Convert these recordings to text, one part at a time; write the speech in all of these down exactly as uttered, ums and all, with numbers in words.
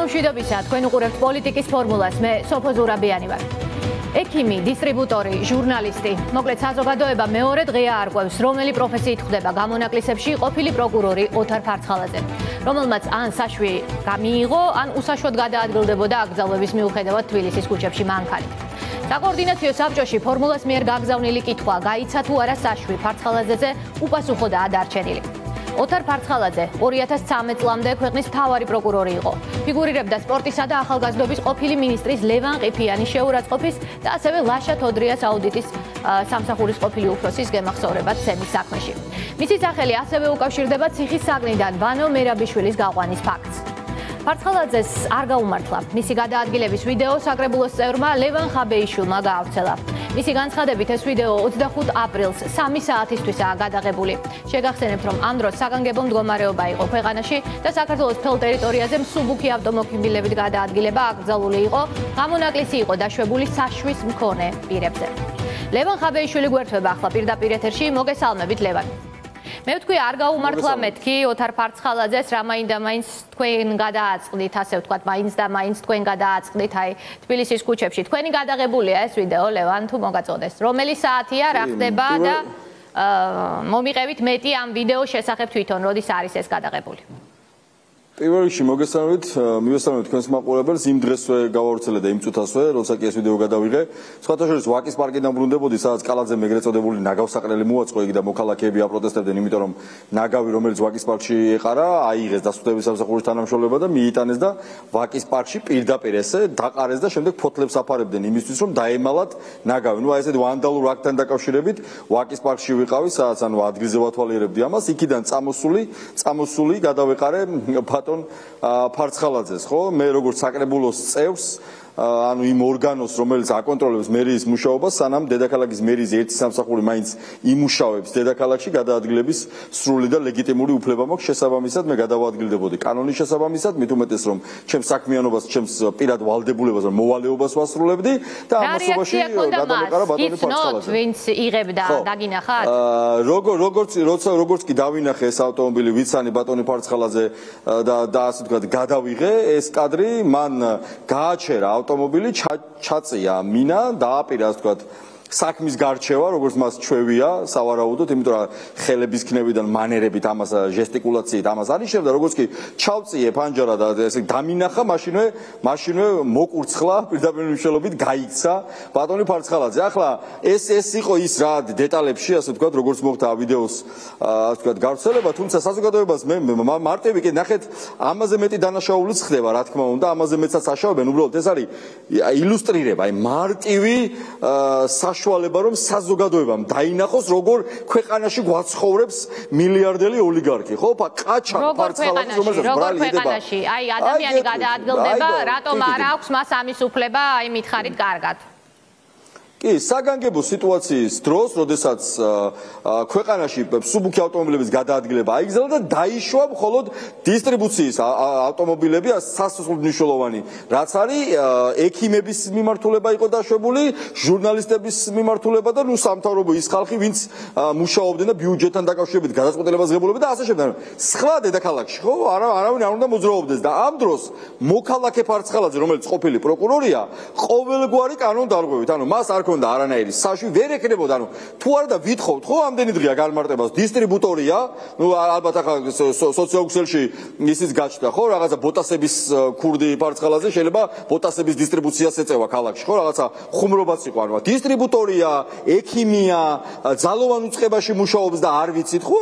მშვიდობისა, თქვენ უყურებთ პოლიტიკის ფორმულას, მე სოფო ზურაბიანი ვარ. ექიმი, დისტრიბუტორი, ჟურნალისტი, მოკლედ საზოგადოება მეორე დღეა არკვევს, რომელი პროფესიით ხდება გამონაკლისებში ყოფილი პროკურორი ოთარ ფარცხალაძე, რომელმაც ან საშვი გამიიღო, ან უსაშვოდ გადაადგილდებოდა აკრძალვების მიუხედავად თბილისის ქუჩებში მანქანით. საკოორდინაციო საბჭოში ფორმულას მიერ გაგზავნილი კითხვა, გაიცა თუ არა საშვი ფარცხალაძეზე უპასუხოდაა დარჩენილი. ოთარ ფარცხალაძე ორი ათას ცხრამეტ წლამდე ქვეყნის მთავარი პროკურორი იყო. ფიგურირებდა სპორტისა და ახალგაზრდობის ყოფილი მინისტრის ლევან ყიფიანის შეურაცხყოფის და ასევე ლაშა თოდრიას აუდიტის სამსახურის ყოფილი უფროსის გემახსოვრებად ცემის საქმეში. მისი სახელი ასევე უკავშირდება ციხის საგნიდან ვანო მერაბიშვილის გაყვანის ფაქტს. ფარცხალაძეს არ გაუმართლა. მისი გადაადგილების ვიდეო საკრებულოს წევრმა ლევან ხაბეიშვილმა გაავრცელა. მისი განცხადებით ეს ვიდეო ოცდახუთ აპრილს სამი საათისთვისაა გადაღებული. შეგახსენებთ, რომ ამ დროს საგანგებო მდგომარეობა იყო ქვეყანაში და საქართველოს მთელ ტერიტორიაზე მსუბუქი ავტომობილებით გადაადგილება აკრძალული იყო. გამონაკლისი იყო დაშვებული საშვის მქონე პირებზე. ლევან ხაბეიშვილი გვერდება ახლა პირდაპირ ეთერში. მოგესალმებით, ლევან. მე ვთქვი, არ გაუმართლა მეთქი ოთარ ფარცხალაძეს, რა მაინდა მაინც თქვენ გადააწყდით, ასე ვთქვათ, მაინც და მაინც თქვენ გადააწყდით აი თბილისის ქუჩებში. თქვენი გადაღებულია ეს ვიდეო, ლევან, თუ მოგაწოდეს. რომელი საათია, რა ხდება და მომიყევით მეტი ამ ვიდეოს შესახებ თვითონ, როდის არის ეს გადაღებული? პირველ რიგში მოგესალმებით, მივესალმებით თქვენს მაყურებელს, იმ დღესვე გავავრცელე და იმ წუთასვე, როცა კი ეს ვიდეო გადავიღე. სხვათა შორის ვაკის პარკიდან ბრუნდებოდი, სადაც კალაძემ ეგრეთ წოდებული ნაგავსაყრელი მოაწყო იქ და მოქალაქეები აპროტესტებდნენ, იმიტომ რომ ნაგავი, რომელიც ვაკის პარკში ეყარა, აიღეს დასუსტების სამსახურის თანამშრომლობა და მიიტანეს და ვაკის პარკში პირდაპირ ესე დაყარეს და შემდეგ ფოთლებს აფარებდნენ იმისთვის, რომ დაემალათ ნაგავი. ნუ აი ესეთი ვანდალურ აქტთან დაკავშირებით ვაკის პარკში ვიყავი, სადაც ანუ ადგილზე ვათვალიერებდი ამას, იქიდან წამოსული, წამოსული გადავეყარე ფარცხალაძეს, ხო? მე როგორც საკრებულოს წევრს, ანუ იმ ორგანოს, რომელიც აკონტროლებს მერიის მუშაობას, სანამ დედაქალაქის მერიის ერთი სამსახური მაინც იმუშავებს დედაქალაქში, გადაადგილების სრული და ლეგიტიმური უფლება მაქვს, შესაბამისად მე გადავადგილდებოდი კანონის შესაბამისად, მით უმეტეს რომ ჩემს საქმიანობას, ჩემს პირად ვალდებულებას, მოვალეობას ვასრულებდი და ამასობაში გადავეყარა ბატონი ფარცხალაძე. ვინც იღებდა, დაგინახათ? როგორ როგორც როცა როგორც კი დავინახე ეს ავტომობილი, ვიცანი ბატონი ფარცხალაძე და და ასე ვთქვათ, გადავიღე ეს კადრი, მან გააჩერა ავტომობილი, ჩაწია მინა, დააპირა, ასე ვთქვათ, საქმის გარჩევა, როგორც მას ჩვევია, სავარაუდოდ, იმიტომ რომ ხელების ქნევიდან, მანერებით, ამას ჟესტიკულაციით, ამას არიშევდა, როგორც კი ჩავწიე ფანჯარა და ესე დამინახა, მაშინვე, მაშინვე მოკურცხლა, პირდაპირ მნიშვნელობით გაიქცა ბატონი ფარცხალაძე. ახლა ეს ეს იყო ის რა დეტალებში, ასე ვთქვათ, როგორც მოხდა ვიდეოს, ასე ვთქვათ, გავრცელება, თუმცა საზოგადოებას მე მარტივი კი ნახეთ, ამაზე მეტი დანაშაულიც ხდება, რა თქმა უნდა, ამაზე მეცაც აშავებენ, უბრალოდ ეს არის ილუსტრირება, აი მარტივი საშუალება, რომ საზოგადოებამ დაინახოს, როგორ ქვეყანაში გვაცხოვრებს მილიარდელი ოლიგარქი, ხო? ყაჩა ფარცხალაძე, რომელსაც ბრალი ედება. აი ადამიანი გადაადგილდება, რატომ არ აქვს მას ამის უფლება, აი მითხარით კარგად. კი, საგანგებო სიტუაციის დროს, როდესაც ქვეყანაში მსუბუქი ავტომობილების გადაადგილება აიგზავნა და დაიშვა მხოლოდ დისტრიბუციის ავტომობილები, სასწაულად მნიშვნელოვანი, რაც არის ექიმების მიმართულება იყო დაშვებული, ჟურნალისტების მიმართულება და ნუ სამთავრობო ის ხალხი, ვინც მუშაობდნენ და ბიუჯეტთან დაკავშირებით გადაწყვეტილებას ღებულობდნენ და ასე შემდეგ. სხვა დედაქალაქში, ხო, არა არავინ არ უნდა მოძრაობდეს და ამ დროს მოქალაქე ფარცხალაძე, რომელიც ყოფილი პროკურორია, ყოველგვარი კანონდარღვევით, ანუ მას არ და არანაირი საშვი ვერ ეკნებოდა, ანუ თუ არა და ვითხოვთ, ხო, ამდენი დღეა განმარტებას, დისტრიბუტორია, ნუ ალბათ ახლა სოციოქსელში ისიც გაჩნდა, ხო, რაღაცა ბოტასების ქურდი ფარცხალაძე შეიძლება ბოტასების დისტრიბუციას ეწევა ქალაქში, ხო, რაღაცა ხუმრობაც იყო, ანუ დისტრიბუტორია, ექიმია, ძალოვან უწყებაში მუშაობს და არ ვიცით, ხო,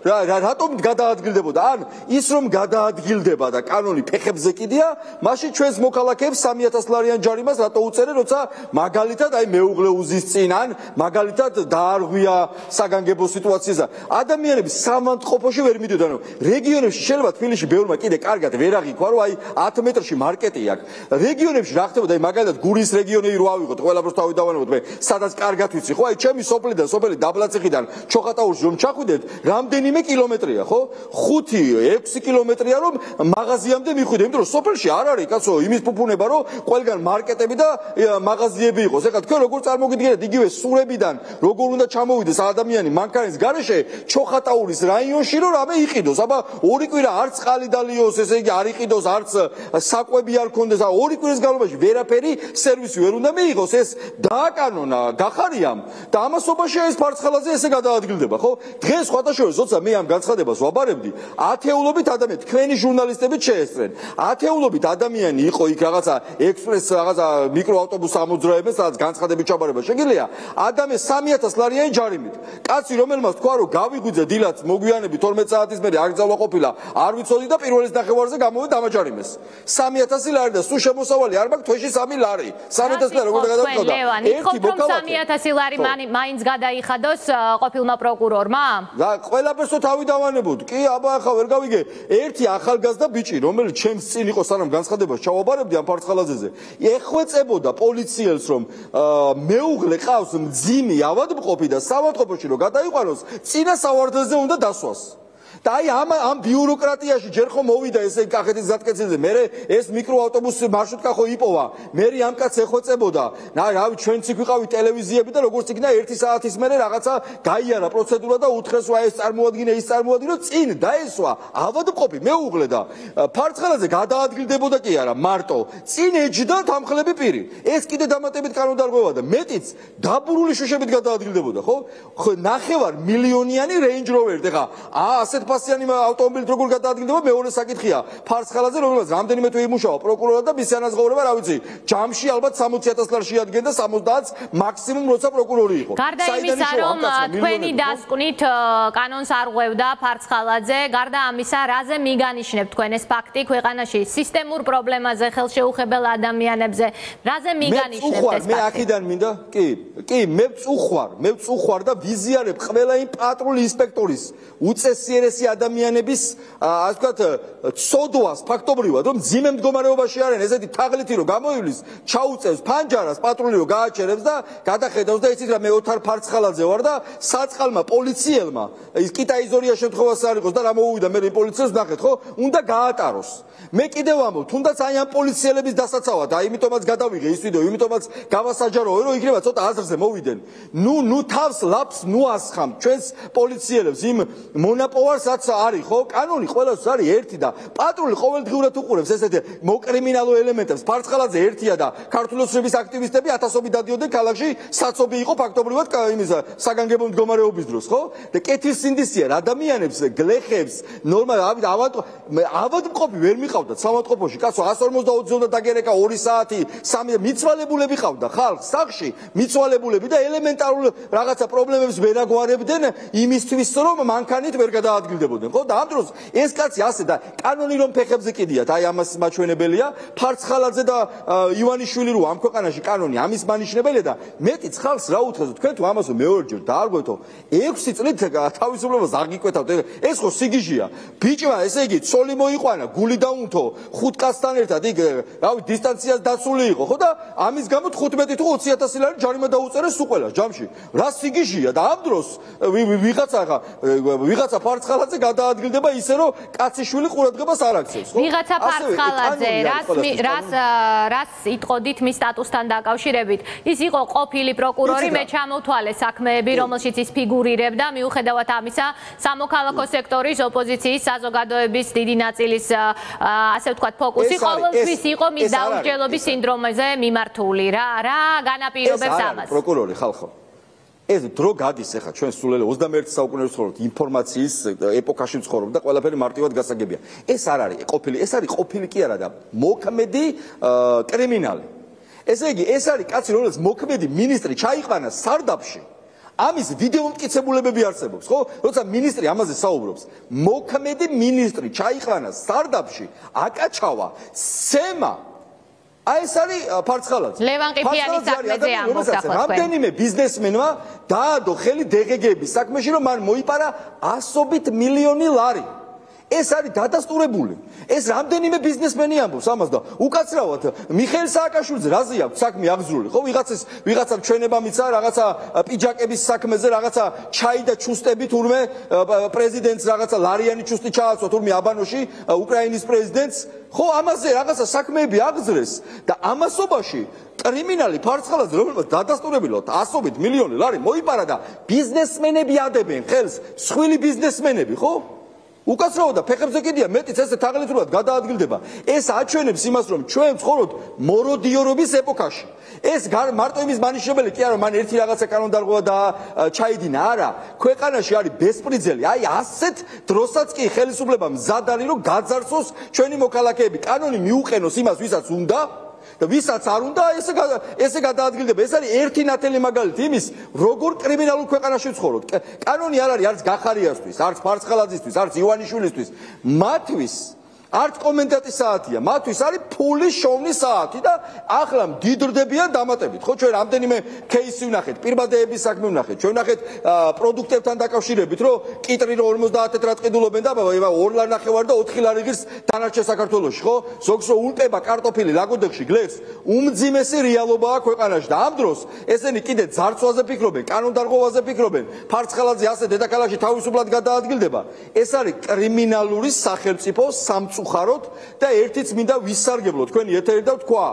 რატომ გადაადგილდებოდა? ან ის რომ გადაადგილდება და კანონი ფეხებზე კიდია, მაშინ ჩვენს მოქალაქეებს სამი ათას ლარიან ჯარიმას რატო უწერენ, როცა მაგალითად აი მე უღლეუზის წინან მაგალითად დაარღვია საგანგებო სიტუაციაზე. ადამიანები სამანტყოფოში ვერ მიდიოდნენ. ანუ რეგიონებში შეიძლება თბილისში ბევრმა კიდე კარგად ვერ აღიქვა, რომ აი ათ მეტრში მარკეტი აქვს. რეგიონებში რა ხდებოდა, აი მაგალითად გურის რეგიონი რო ავიღოთ, ყველაფერს თავი დავანებოთ, მე სადაც კარგად ვიცი, ხო? აი ჩემი სოფლიდან, სოფელი დაბლაციხიდან ჩოხატაურში რომ ჩახვიდეთ, რამდენიმე კილომეტრია, ხო? ხუთი ექვსი კილომეტრია რომ მაღაზიამდე მიხვიდე, იმიტომ რომ სოფელში არ არის კაცო იმის ფუფუნება, რომ ყველგან მარკეტები და მაღაზიები იყოს. ეხლა თქვენ როგორ როგორ წარმოგიდგენთ იგივე სურებიდან როგორ უნდა ჩამოვიდეს ადამიანი მანქანის გარეშე ჩოხატაურის რაიონში რომ რამე იყიდოს აბა ორი კვირა არც წყალი დალიოს ესე იგი არ იყიდოს არც საკვები არ ქონდეს ორი კვირის განმავლობაში ვერაფერი სერვისი ვერ უნდა მიიღოს ეს დააკანონა გახარიამ და ამასობაში ეს ფარცხალაძე ესე გადაადგილდება ხო დღეს სხვადასხვა როცა მე ამ განცხადებას ვაბარებდი ათეულობით ადამიანი თქვენი ჟურნალისტებით შეესწრენ ათეულობით ადამიანი იყო იქ რაღაცა ექსპრეს რაღაცა მიკროავტობუს ამოძრავებენ სადაც განცხადებით ჩაბარება შეგიძლია ადამიანი სამი ათას ლარიანი ჯარიმით კაცი რომელმაც თქვა რომ გავიგვიძე დილაც მოგვიანები თორმეტ საათის მერე აკრძალვა ყოფილა არ ვიცოდი და პირველის ნახევარზე გამოვიდა დამაჯარიმეს სამი ათასი ლარი და სულ შემოსავალი არ მაქვს თვეში სამი ლარი სამი ათასი ლარი როგორ გადავწყვეტა ერთი მოქალაქე სამი ათასი ლარი მაინც გადაიხადოს ყოფილმა პროკურორმა და ყველაფერსო თავი დავანებოდ კი აბა ახლა ვერ გავიგე ერთი ახალგაზრდა ბიჭი რომელიც ჩემს წინ იყო სანამ განცხადებას ჩავაბარებდი ამ ფარცხალაძეზე ეხვეწებოდა პოლიციელს რომ მეუღლე ყავს მძიმე ავადმყოფი და საავადმყოფოში რომ გადაიყვანოს წინა სავარძელზე უნდა დასვას და აი ამ ამ ბიუროკრატიაში ჯერ ხომ მოვიდა ესე კახეთის გზატკეცილზე მე ეს მიკროავტობუსი მარშრუტკა ხო იპოვა მე ამ კაცს ეხვეწებოდა რავი ჩვენც იქ ვიყავი ტელევიზიები და როგორც იქნა ერთი საათის მერე რაღაცა გაიარა პროცედურა და უთხრეს რა ეს წარმოადგინე ის წარმოადგინე წინ დაესვა ავადმყოფი მეუღლე და ფარცხალაძე გადაადგილდებოდა კი არა მარტო წინ ეჯდა თამხლები პირი ეს კიდე დამატებით კანონდარღვევა და მეტიც დაბურული შუშებით გადაადგილდებოდა ხო ხო ნახევარ მილიონიანი Range Rover ეხა ასეთ ფასიანი ავტომობილით როგორ გადაადგილდება მეორე საკითხია ფარცხალაძე რომელსაც რამდენიმე თვე იმუშავა პროკურორად და მისი ანაზღაურება რა ვიცი ჯამში ალბათ სამოცი ათას ლარს შეადგენდა სამოცდაათს მაქსიმუმ როცა პროკურორი იყო გარდა იმისა რომ თქვენი დასკვნით კანონს არ ღვევდა ფარცხალაძე გარდა ამისა რაზე მიგანიშნებთ თქვენ ეს ფაქტი ქვეყანაში სისტემურ პრობლემაზე ხელშეუხებელ ადამიანებზე რაზე მიგანიშნებთ ეს ფაქტი მე აქედან მინდა კი კი მე ვწუხვარ მე ვწუხვარ და ვიზიარებ ყველა იმ პატრული ინსპექტორის უწესიერესი ადამიანების ასე ვთქვათ ცოდვას ფაქტობრივად რომ ძიმე მდგომარეობაში არიან ესეთი თაღლითი რომ გამოივლის ჩაუწევს ფანჯარას პატრული რომ გააჩერებს და გადახედავს და იცით რა მე ოთარ ფარცხალაძე ვარ და საწყალმა პოლიციელმა ის კიტაიზორია შემთხვევას არ იყოს და რა მოუვიდა მე პოლიციელს ნახეთ ხო უნდა გაატაროს მე კიდევ ამბობ თუნდაც აი ამ პოლიციელების დასაცავად აი იმიტომაც გადავიღე ის ვიდეო იმიტომაც გავასაჯაროე რომ იქნება ცოტა აზრზე მოვიდნენ ნუ ნუ თავს ლაფს ნუ ასხამ ჩვენს პოლიციელებს იმ მონაპოვარსაც არის ხო კანონი ყველას არის ერთი და პატრული ყოველდღიურად უყურებს ესეთი მოკრიმინალო ელემენტებს ფარცხალაძე ერთია და ქართული ოცნების აქტივისტები ათასობით დადიოდნენ ქალაქში საცობი იყო ფაქტობრივად იმის საგანგებო მდგომარეობის დროს ხო და კეთილსინდისია ადამიანებს გლეხებს ნორმალ ავადმყოფი ვერ მიყავდათ საავადმყოფოში კაცო εκατს ორმოცდაოთხ ზონდა დაგერეკა ორი საათი სამი მიცვალებულები ყავდა ხალხს სახში მიცვალებულები და ელემენტარულ რაღაცა პრობლემებს ვერ აგვარებდნენ იმისთვის რომ მანქანით ვერ გადაადგილდებოდნენ ხო და ამ დროს ეს კაცი ასე და კანონი რომ ფეხებზე კიდიათ აი ამას მაჩვენებელია ფარცხალაძე და ივანიშვილი რო ამ ქვეყანაში კანონი ამის მანიშნებელია და მეტიც ხალხს რა უთხრეს თქვენ თუ ამასო მეორჯერ დაარღვეთო ექვსი წლით თავისუფლებას არ გიკვეთავთ ეს ხო სიგიჟია ბიჭმა ესე იგი ცოლი მოიყვანა გული დაუნთო ხუთ კაცთან ერთად იქ რავი დისტანციას დაცული იყო ხო და ამის გამო თხუთმეტი თუ ოცი ათასი ლარი ჯარიმა დაუწერეს სულ ყველას ჯამში რა სიგიჟია და ამ დროს ვიღაცა ხა ვიღაცა ფარცხალაძე გადაადგილდება ისე რომ კაციშვილი ყურადღებას არ აქცევს ხო ვიღაცა ფარცხალაძე რას რას რას იტყოდით მის სტატუსთან დაკავშირებით ის იყო ყოფილი პროკურორი მე ჩამოვთვალე საქმეები რომელშიც ის ფიგურირებდა მიუხედავად ამისა სამოქალაქო სექტორის ოპოზიციის საზოგადოების დიდი ნაწილის ასე ვთქვათ ფოკუსი ყოველთვის იყო მის დაუსჯელობის სინდრომაზე მიმართული რა რა განაპირობებს ამას პროკურორი ხალხო ეს დრო გადის ახლა ჩვენ სულ ოცდამეერთე საუკუნეში ვცხოვრობთ ინფორმაციის ეპოქაში ვცხოვრობთ და ყველაფერი მარტივად გასაგებია ეს არ არის ყოფილი ეს არის ყოფილი კი არა და მოქმედი კრიმინალი ესე იგი ეს არის კაცი რომელიც მოქმედი მინისტრი ჩაიყვანა სარდაფში ამის ვიდეო მტკიცებულებები არსებობს ხო როცა მინისტრი ამაზე საუბრობს მოქმედი მინისტრი ჩაიყვანა სარდაფში აკაჩავა სემა აი ეს არის ფარცხალაძე ლევან ყიფიანის საქმეზე ამბობს ახლა თქვენ რამდენიმე ბიზნესმენმა დაადო ხელი დე ღე გეების საქმეში რომ მან მოიპარა ასობით მილიონი ლარი ეს არის დადასტურებული. ეს რამდენიმე ბიზნესმენი ამბობს ამას და უკაცრავად მიხეილ სააკაშვილიძე რაზე აქვს საქმე აღზრული, ხო? ვიღაცის ვიღაცამ ჩვენება მიცა რაღაცა პიჯაკების საქმეზე, რაღაცა ჩაი და ჩუსტები თურმე პრეზიდენტს რაღაცა ლარიანი ჩუსტი ჩააცვა თურმე აბანოში უკრაინის პრეზიდენტს, ხო, ამაზე რაღაცა საქმეები აღზრეს და ამასობაში კრიმინალი ფარცხალაძე რომელსაც დადასტურებულად ასობით მილიონი ლარი მოიპარა და ბიზნესმენები ადებენ ხელს, სხვილი ბიზნესმენები, ხო? უკაცრავად და ფეხებზე კიდია მეტიც ესე თაღლითურად გადაადგილდება. ეს აჩვენებს იმას, რომ ჩვენ ვცხოვრობთ მოროდიორობის ეპოქაში. ეს მარტო იმის მანიშნებელი კი არა, მან ერთი რაღაცა კანონდარღვა და ჩაიდინა, არა. ქვეყანაში არის ბესპრიძელი. აი ასეთ დროსაც კი ხელისუფლება მზად არის, რომ გაძარცვოს ჩვენი მოქალაქეები. კანონი მიუყენოს იმას, ვისაც უნდა და ვისაც არ უნდა, ესე ესე გადაადგილდება. ეს არის ერთი ნათელი მაგალითი იმის, როგორ კრიმინალურ ქვეყანაში ვცხოვრობთ. კანონი არ არის არც გახარიასთვის, არც ფარცხალაძისთვის, არც ივანიშვილისთვის. მათთვის არც კომენდანტის საათია, მათთვის არის ფულის შოვნის საათი და ახლა მდიდრდებიან დამატებით. ხო, ჩვენ რამდენიმე кейსი ვნახეთ, პირბადეების საქმე ვნახეთ, ჩვენ ვნახეთ პროდუქტებთან დაკავშირებით, რომ კიტრი რომ ორმოცდაათ ეტრად ყიდულობენ და ორ ლარ ნახევარ და ოთხი ლარი ღირს დანარჩენ საქართველოში, ხო? ზოგს რომ ულტება კარტოფილი ლაგოდეხში გლეხს, უმძიმესი რეალობაა ქვეყანაში და ამ დროს ესენი კიდე ძარცვაზე ფიქრობენ, კანონდარღვევაზე ფიქრობენ, ფარცხალაძე ასე დედაქალაქში თავისუფლად გადაადგილდება. ეს არის კრიმინალური სახელმწიფო სამწუხაროდ უხაროთ და ერთიც მინდა ვისარგებლო თქვენი ეთერი და თქვა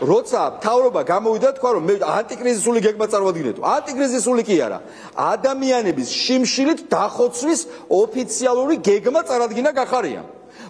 როცა მთავრობა გამოვიდა თქვა რომ მე ანტიკრიზისული გეგმა წარვადგინეთ. ანტიკრიზისული კი არა, ადამიანების შიმშილით დახოცვის ოფიციალური გეგმა წარადგინა გახარია.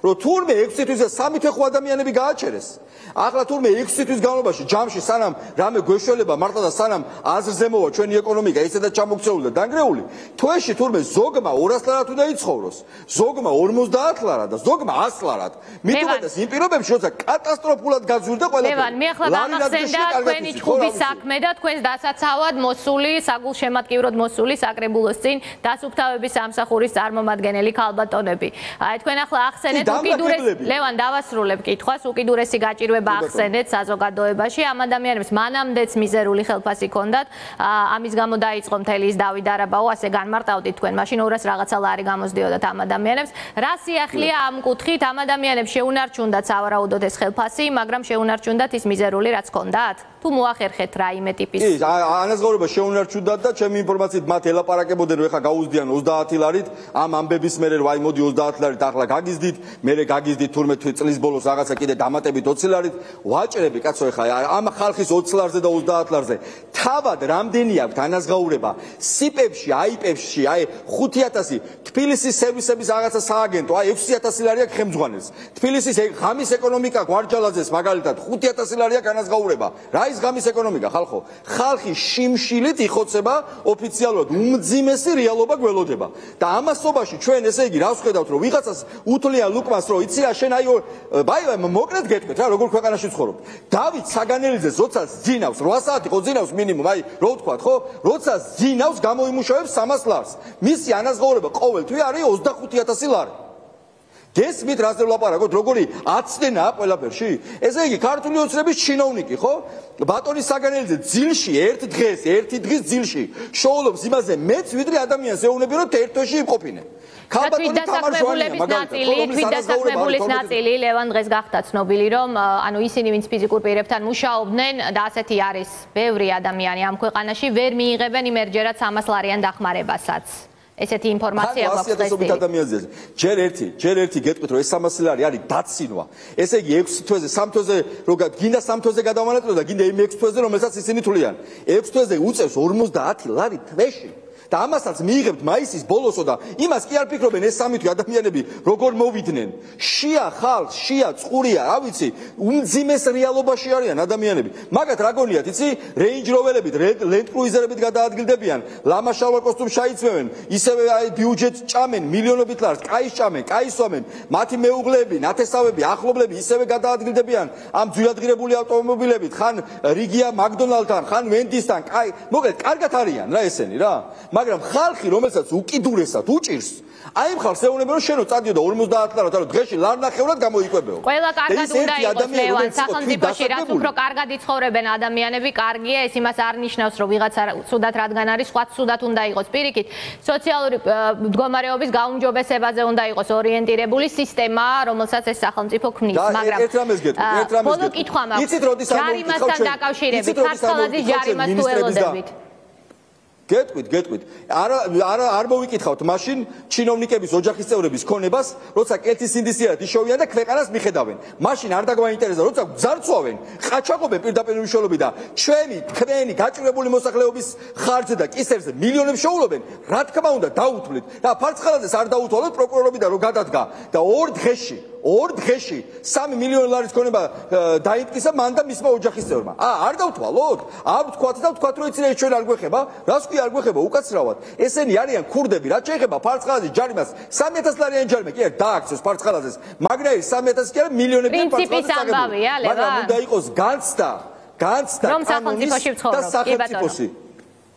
რომ თურმე ექვსი თვის და სამი თვე ხო ადამიანები გააჩერეს. ახლა თურმე ექვსი თვის განმავლობაში ჯამში სანამ რამე გვეშველება მართლა და სანამ აზრზე მოვა ჩვენი ეკონომიკა ისედაც ჩამოქცეული და დანგრეული, თვეში თურმე ზოგმა ორას ლარად უნდა იცხოვროს, ზოგმა ორმოცდაათ ლარად და ზოგმა ას ლარად. მით უმეტეს იმ პირობებში, როცა კატასტროფულად გაძვირდა ყველაფერი. ლევან, მე ახლა გამახსენდა თქვენი ჩხუბის საქმე და თქვენს დასაცავად მოსული, საგულშემატკივროდ მოსული საკრებულოს წინ დასუფთავების სამსახურის წარმომადგენელი ქალბატონები. აი თქვენ ახლა ახსენეთ უკიდურესი ლევან დავასრულებ კითხვას, უკიდურესი გაჭირვება ახსენეთ საზოგადოებაში, ამ ადამიანებს მანამდეც მიზერული ხელფასი ჰქონდათ, ამის გამო დაიწყო მთელი ის დავით არაბაო, ასე განმარტავდით თქვენ, მაშინ ორას რაღაცა ლარი გამოსდიოდათ ამ ადამიანებს. რა სიახლეა ამ კუთხით, ამ ადამიანებს შეუნარჩუნდათ სავარაუდოდ ეს ხელფასი, მაგრამ შეუნარჩუნდათ ის მიზერული რაც ჰქონდათ? თუ მოახერხეთ რაიმე ტიპის? კი, ანაზღაურება შეუნარჩუნდათ და ჩემი ინფორმაციით მათ ელაპარაკებოდნენ, რომ ეხა გაუზდიან ოცდაათი ლარით, ამ ამბების მერე რომ აი მოდი ოცდაათი ლარით ახლა გაგიზდით, მერე გაგიზდით თურმე წლის ბოლოს რაღაცა კიდე დამატებით ოცი ლარით, ვაჭრები კაცო ეხა ამ ხალხის ოცი ლარზე და ოცდაათ ლარზე. თავად რამდენი აქვს ანაზღაურება სიპებში, აიპებში, აი ხუთი ათასი, თბილისის სერვისების რაღაცა სააგენტო, აი ექვსი ათასი ლარი აქვს ხელმძღვანელს. თბილისის ღამის ეკონომიკა გვარჯალაძეს მაგალითად ხუთი ათასი ლარი აქვს ანაზღაურება. რა ის ღამის ეკონომიკა ხალხო? ხალხი შიმშილით იხოცება ოფიციალურად, უმძიმესი რეალობა გველოდება. და ამასობაში ჩვენ ესე იგი რას ვხედავთ, რომ ვიღაცას უთლიან ლუკმას, რომ იცი რა შენ აი ბაი მოკლედ გეტყვით რა, როგორ ქვეყანაში ცხოვრობ. დავით საგანელიძეს როცა ძინავს რვა საათი ხო ძინავს მინიმუმ, აი რო ვთქვათ ხო, როცა ძინავს გამოიმუშავებს სამას ლარს. მისი ანაზღაურება ყოველთვე არის ოცდახუთი ათასი ლარი. გესმით რაზე ვლაპარაკოთ, როგორი აცდენაა ყველაფერში? ესე იგი ქართული ოცნების ჩინოვნიკი ხო? ბატონი საგანელიძე ძილში ერთ დღეს, ერთი დღის ძილში შოულობს იმაზე მეც ვიდრე ადამიანს ეუბნები რომ ერთ თვეში იმყოფინე. ქალბატონი თამარჟვანია მაგალითად, თვით დასაქმებულის ნაწილი ლევან დღეს გახდა ცნობილი, რომ ანუ ისინი ვინც ფიზიკურ პირებთან მუშაობდნენ და ასეთი არის ბევრი ადამიანი ამ ქვეყანაში, ვერ მიიღებენ იმერჯერად სამას ლარიან დახმარებასაც. ესეთი ინფორმაცია გვაქვს დღეს. ადამიანზე ჯერ ერთი, ჯერ ერთი გეტყვით რომ ეს სამასი ლარი არის დაცინვა. ესე იგი ექვსი თვეზე, სამ თვეზე რო გინდა სამ თვეზე გადავანაწილო და გინდა იმ ექვსი თვეზე რომელსაც ისინი თვლიან. ექვსი თვეზე უწევს ორმოცდაათი ლარი თვეში. და ამასაც მიიღებთ მაისის ბოლოსო და იმას კი არ ფიქრობენ ეს სამი თვე ადამიანები როგორ მოვიდნენ. შია ხალხ, შია წყურია, რა ვიცი, უმძიმეს რეალობაში არიან ადამიანები. მაგათ რა გონიათ, იცი? რეინჯ როვერებით, ლენდ კრუიზერებით გადაადგილდებიან, ლამაშალვა კოსტუმს ჩაიცმევენ, ისევე აი ბიუჯეტს ჭამენ, მილიონობით ლარს, კაის ჭამენ, კაის სვამენ, მათი მეუღლეები, ნათესავები, ახლობლები ისევე გადაადგილდებიან ამ ძვირადღირებული ავტომობილებით, ხან რიგია მაკდონალდთან, ხან ვენდისთან, კაი, მოკლედ კარგად არიან რა ესენი რა. მაგრამ ხალხი, რომელსაც უკიდურესად უჭირს, აი ამ ხალხს ეუბნება, რომ შენ რო წადიო და ორმოცდაათ ლარად არო დღეში ლარნახევრად გამოიკვებეო. ყველა კარგად უნდა იყოს ლევან, სახელმწიფოში რაც უფრო კარგად იცხოვრებენ ადამიანები, კარგია, ეს იმას არ ნიშნავს, რომ ვიღაცა ცუდად რადგან არის, სხვა ცუდად უნდა იყოს. პირიქით, სოციალური მდგომარეობის გაუმჯობესებაზე უნდა იყოს ორიენტირებული სისტემა, რომელსაც ეს სახელმწიფო ქმნის, მაგრამ ერთ რამეს გეტყვი, ერთ რამეს ბოლო კითხვა მაქვს. იცით როდის არ მოვიკითხავ ჩვენ? დაკავშირებით ფარცხალაძის ჯარიმას თუ ელოდებით? გეტყვით, გეტყვით. არა არა არ მოვიკითხავთ მაშინ ჩინოვნიკების ოჯახის წევრების ქონებას, როცა კეთის ინდისიერად იშოვიან და ქვეყანას მიხედავენ. მაშინ არ დაგვაინტერესდა, როცა ძარცვავენ, ყაჩაღობენ პირდაპირ უშუალობით და ჩვენი, თქვენი გაჭირებული მოსახლეობის ხარჯზე და კისერზე მილიონებს შეულობენ, რა თქმა უნდა დაუთვლით. და ფარცხალაძეს არ დაუთვალოთ პროკურორობიდან რომ გადადგა და ორ დღეში ორ დღეში სამი მილიონი ლარის ქონება დაიმტკისა მან და მისმა ოჯახის წევრმა. ა არ დავთვალოთ? არ ვთქვათ და ვთქვათ რომ იცი ჩვენ არ გვეხება? რას ქვია არ გვეხება უკაცრავად? ესენი არიან ქურდები, რაც შეეხება ფარცხალაძის ჯარიმას სამი ათას ლარიანი ჯარიმა კი არ დააქცევს ფარცხალაძეს. მაგრამ სამი ათასი კი არა მილიონები ფარცხალაძეს აღებული. მაგრამ უნდა იყოს განცდა, განცდა კანონის და სახელმწიფოსი.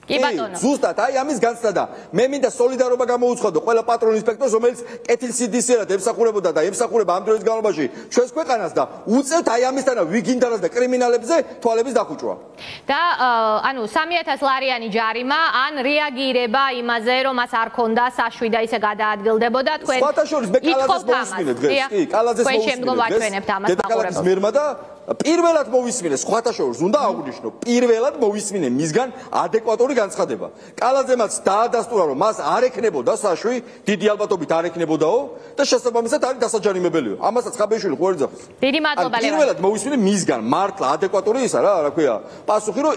კი ბატონო. ზუსტად აი ამის განცდა და მე მინდა სოლიდარობა გამოუცხადო ყველა პატრონ ინსპექტორს, რომელიც კეთილსინდისიერად ემსახურებოდა და ემსახურება ამ დროის განმავლობაში ჩვენს ქვეყანას და უწევთ აი ამისთანა ვიგინდარას და კრიმინალებზე თვალების დახუჭვა. და ანუ სამი ათას ლარიანი ჯარიმა ან რეაგირება იმაზე, რომ მას არ ქონდა საშუი და ისე გადაადგილდებოდა თქვენ. სხვათა შორის მე კალაძეს მოვისმინე დღეს. კი, კალაძეს მოვისმინე. თქვენ შემდგომ ვაჩვენებთ ამას მაყურებელს. მერმა და პირველად მოვისმინე სხვათა შორის უნდა აღვნიშნო, პირველად მოვისმინე მისგან ადეკვატური განცხადება. კალაძემაც დაადასტურა, რომ მას არ ექნებოდა საშვი, დიდი ალბათობით არ ექნებოდაო და შესაბამისად არის დასაჯარიმებელიო. ამასაც ხაბეიშვილი ხო ეძახის. დიდი მადლობა ლევან. პირველად მოვისმინე მისგან, მართლა ადეკვატური ისა რა, რა ქვია, პასუხი რომ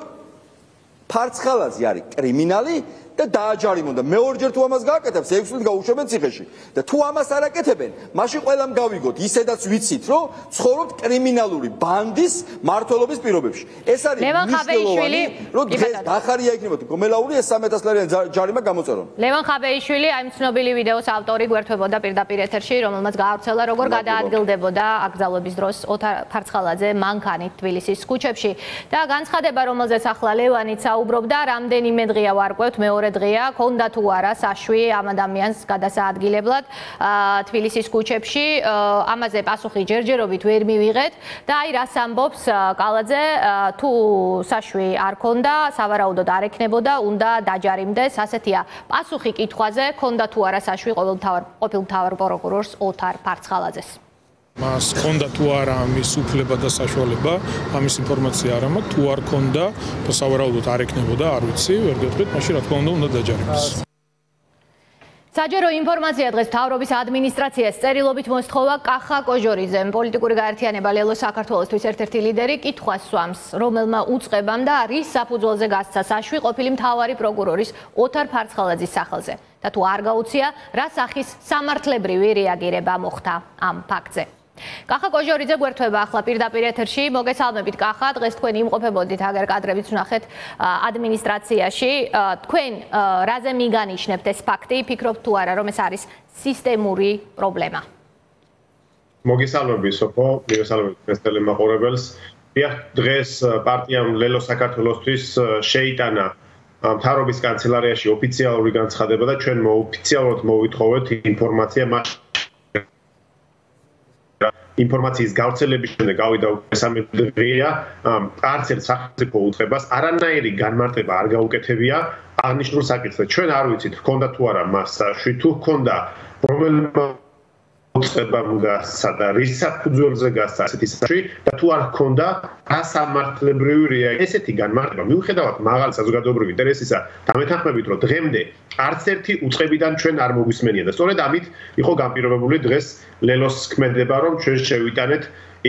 ფარცხალაძე არის კრიმინალი და დააჯარიმონ და მეორჯერ თუ ამას გააკეთებს, ექვს წლით გაუშვებენ ციხეში. და თუ ამას არ აკეთებენ, მაშინ ყველამ გავიგოთ, ისედაც ვიცით, რომ ცხოვრობთ კრიმინალური ბანდის მმართველობის პირობებში. ეს არის მნიშვნელოვანი, რომ დღეს დახარია იქნებოდა გომელაური ეს სამი ათას ლარიანი ჯარიმა გამოწერონ. ლევან ხაბეიშვილი აი ცნობილი ვიდეოს ავტორი გვერდებოდა პირდაპირ ეთერში, რომელმაც გაავრცელა როგორ გადაადგილდებოდა აკრძალვების დროს ოთარ ფარცხალაძე მანქანით თბილისის ქუჩებში და განცხადება, რომელზეც ახლა ლევანიც საუბრობდა, რამდენიმე დღეა ვარკვევთ მეორე დღეა, ქონდა თუ არა საშვი ამ ადამიანს გადასაადგილებლად თბილისის ქუჩებში, ამაზე პასუხი ჯერჯერობით ვერ მივიღეთ და აი რას ამბობს კალაძე, თუ საშვი არ ქონდა, სავარაუდოდ არ ექნებოდა, უნდა დაჯარიმდეს, ასეთია პასუხი კითხვაზე, ქონდა თუ არა საშვი ყოფილ მთავარ პროკურორს ოთარ ფარცხალაძეს. მას ქონდა თუ არა ამის უფლება და საშუალება, ამის ინფორმაცია არ მაქვს, თუ არ ქონდა და სავარაუდოდ არ ექნებოდა, არ ვიცი, ვერ გეტყვით, მაშინ რა თქმა უნდა უნდა დაჯარიმდეს. საჯარო ინფორმაცია დღეს მთავრობის ადმინისტრაციას წერილობით მოსთხოვა კახა კოჟორიძემ, პოლიტიკური გაერთიანება ლელო საქართველოსთვის ერთ-ერთი ლიდერი კითხვას სვამს, რომელმა უწყებამ და რის საფუძველზე გასცა საშვი ყოფილი მთავარი პროკურორის ოთარ ფარცხალაძის სახელზე და თუ არ გაუწია, რა სახის სამართლებრივი რეაგირება მოხდა ამ ფაქტზე. კახა კოჟორიძე გვერდება ახლა პირდაპირ ეთერში. მოგესალმებით კახა, დღეს თქვენ იმყოფებოდით აგერ კადრებიც ვნახეთ ადმინისტრაციაში. თქვენ რაზე მიგანიშნებთ ეს ფაქტი? ფიქრობთ თუ არა, რომ ეს არის სისტემური პრობლემა? მოგესალმებით სოფო, მოგესალმებით დღეს ტელემაყურებელს. დიახ, დღეს პარტიამ ლელო საქართველოსთვის შეიტანა მთავრობის კანცელარიაში ოფიციალური განცხადება და ჩვენ მოოფიციალურად მოვითხოვეთ ინფორმაცია მას ინფორმაციის გავრცელების შემდეგ გავიდა მესამე დღეა, არც ერთ სახელმწიფო უწყებას არანაირი განმარტება არ გაუკეთებია აღნიშნულ საკითხზე. ჩვენ არ ვიცით, ჰქონდა თუ არა მას საშვი, თუ ჰქონდა რომელმა უწყებამ გასცა და რის საფუძველზე გასცა ასეთი საშვი და თუ არ ჰქონდა რა სამართლებრივი რეაგირება. ესეთი განმარტება მიუხედავად მაღალი საზოგადოებრივი ინტერესისა და მეთანხმებით, რომ დღემდე არც ერთი უწყებიდან ჩვენ არ მოგვისმენია და სწორედ ამით იყო განპირობებული დღეს ლელოს ქმედება, რომ ჩვენ შევიტანეთ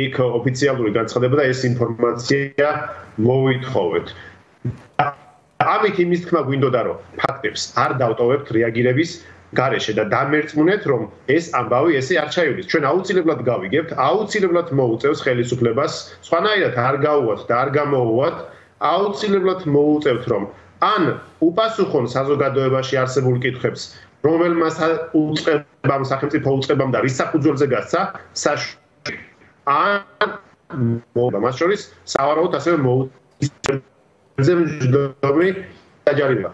იქ ოფიციალური განცხადება და ეს ინფორმაცია მოვითხოვეთ. ამით იმის თქმა გვინდოდა, რომ ფაქტებს არ დავტოვებთ რეაგირების გარეშე და დამერწმუნეთ, რომ ეს ამბავი ესე არ ჩაივლის. ჩვენ აუცილებლად გავიგებთ, აუცილებლად მოუწევს ხელისუფლებას, სხვანაირად არ გაუვათ და არ გამოუვათ, აუცილებლად მოუწევთ, რომ ან უპასუხონ საზოგადოებაში არსებულ კითხვებს, რომელმა უწყებამ, სახელმწიფო უწყებამ და რის საფუძველზე გასცა საშვი, ან მას შორის სავარაუდოდ ასევე მოუწევს დაჯარიმება.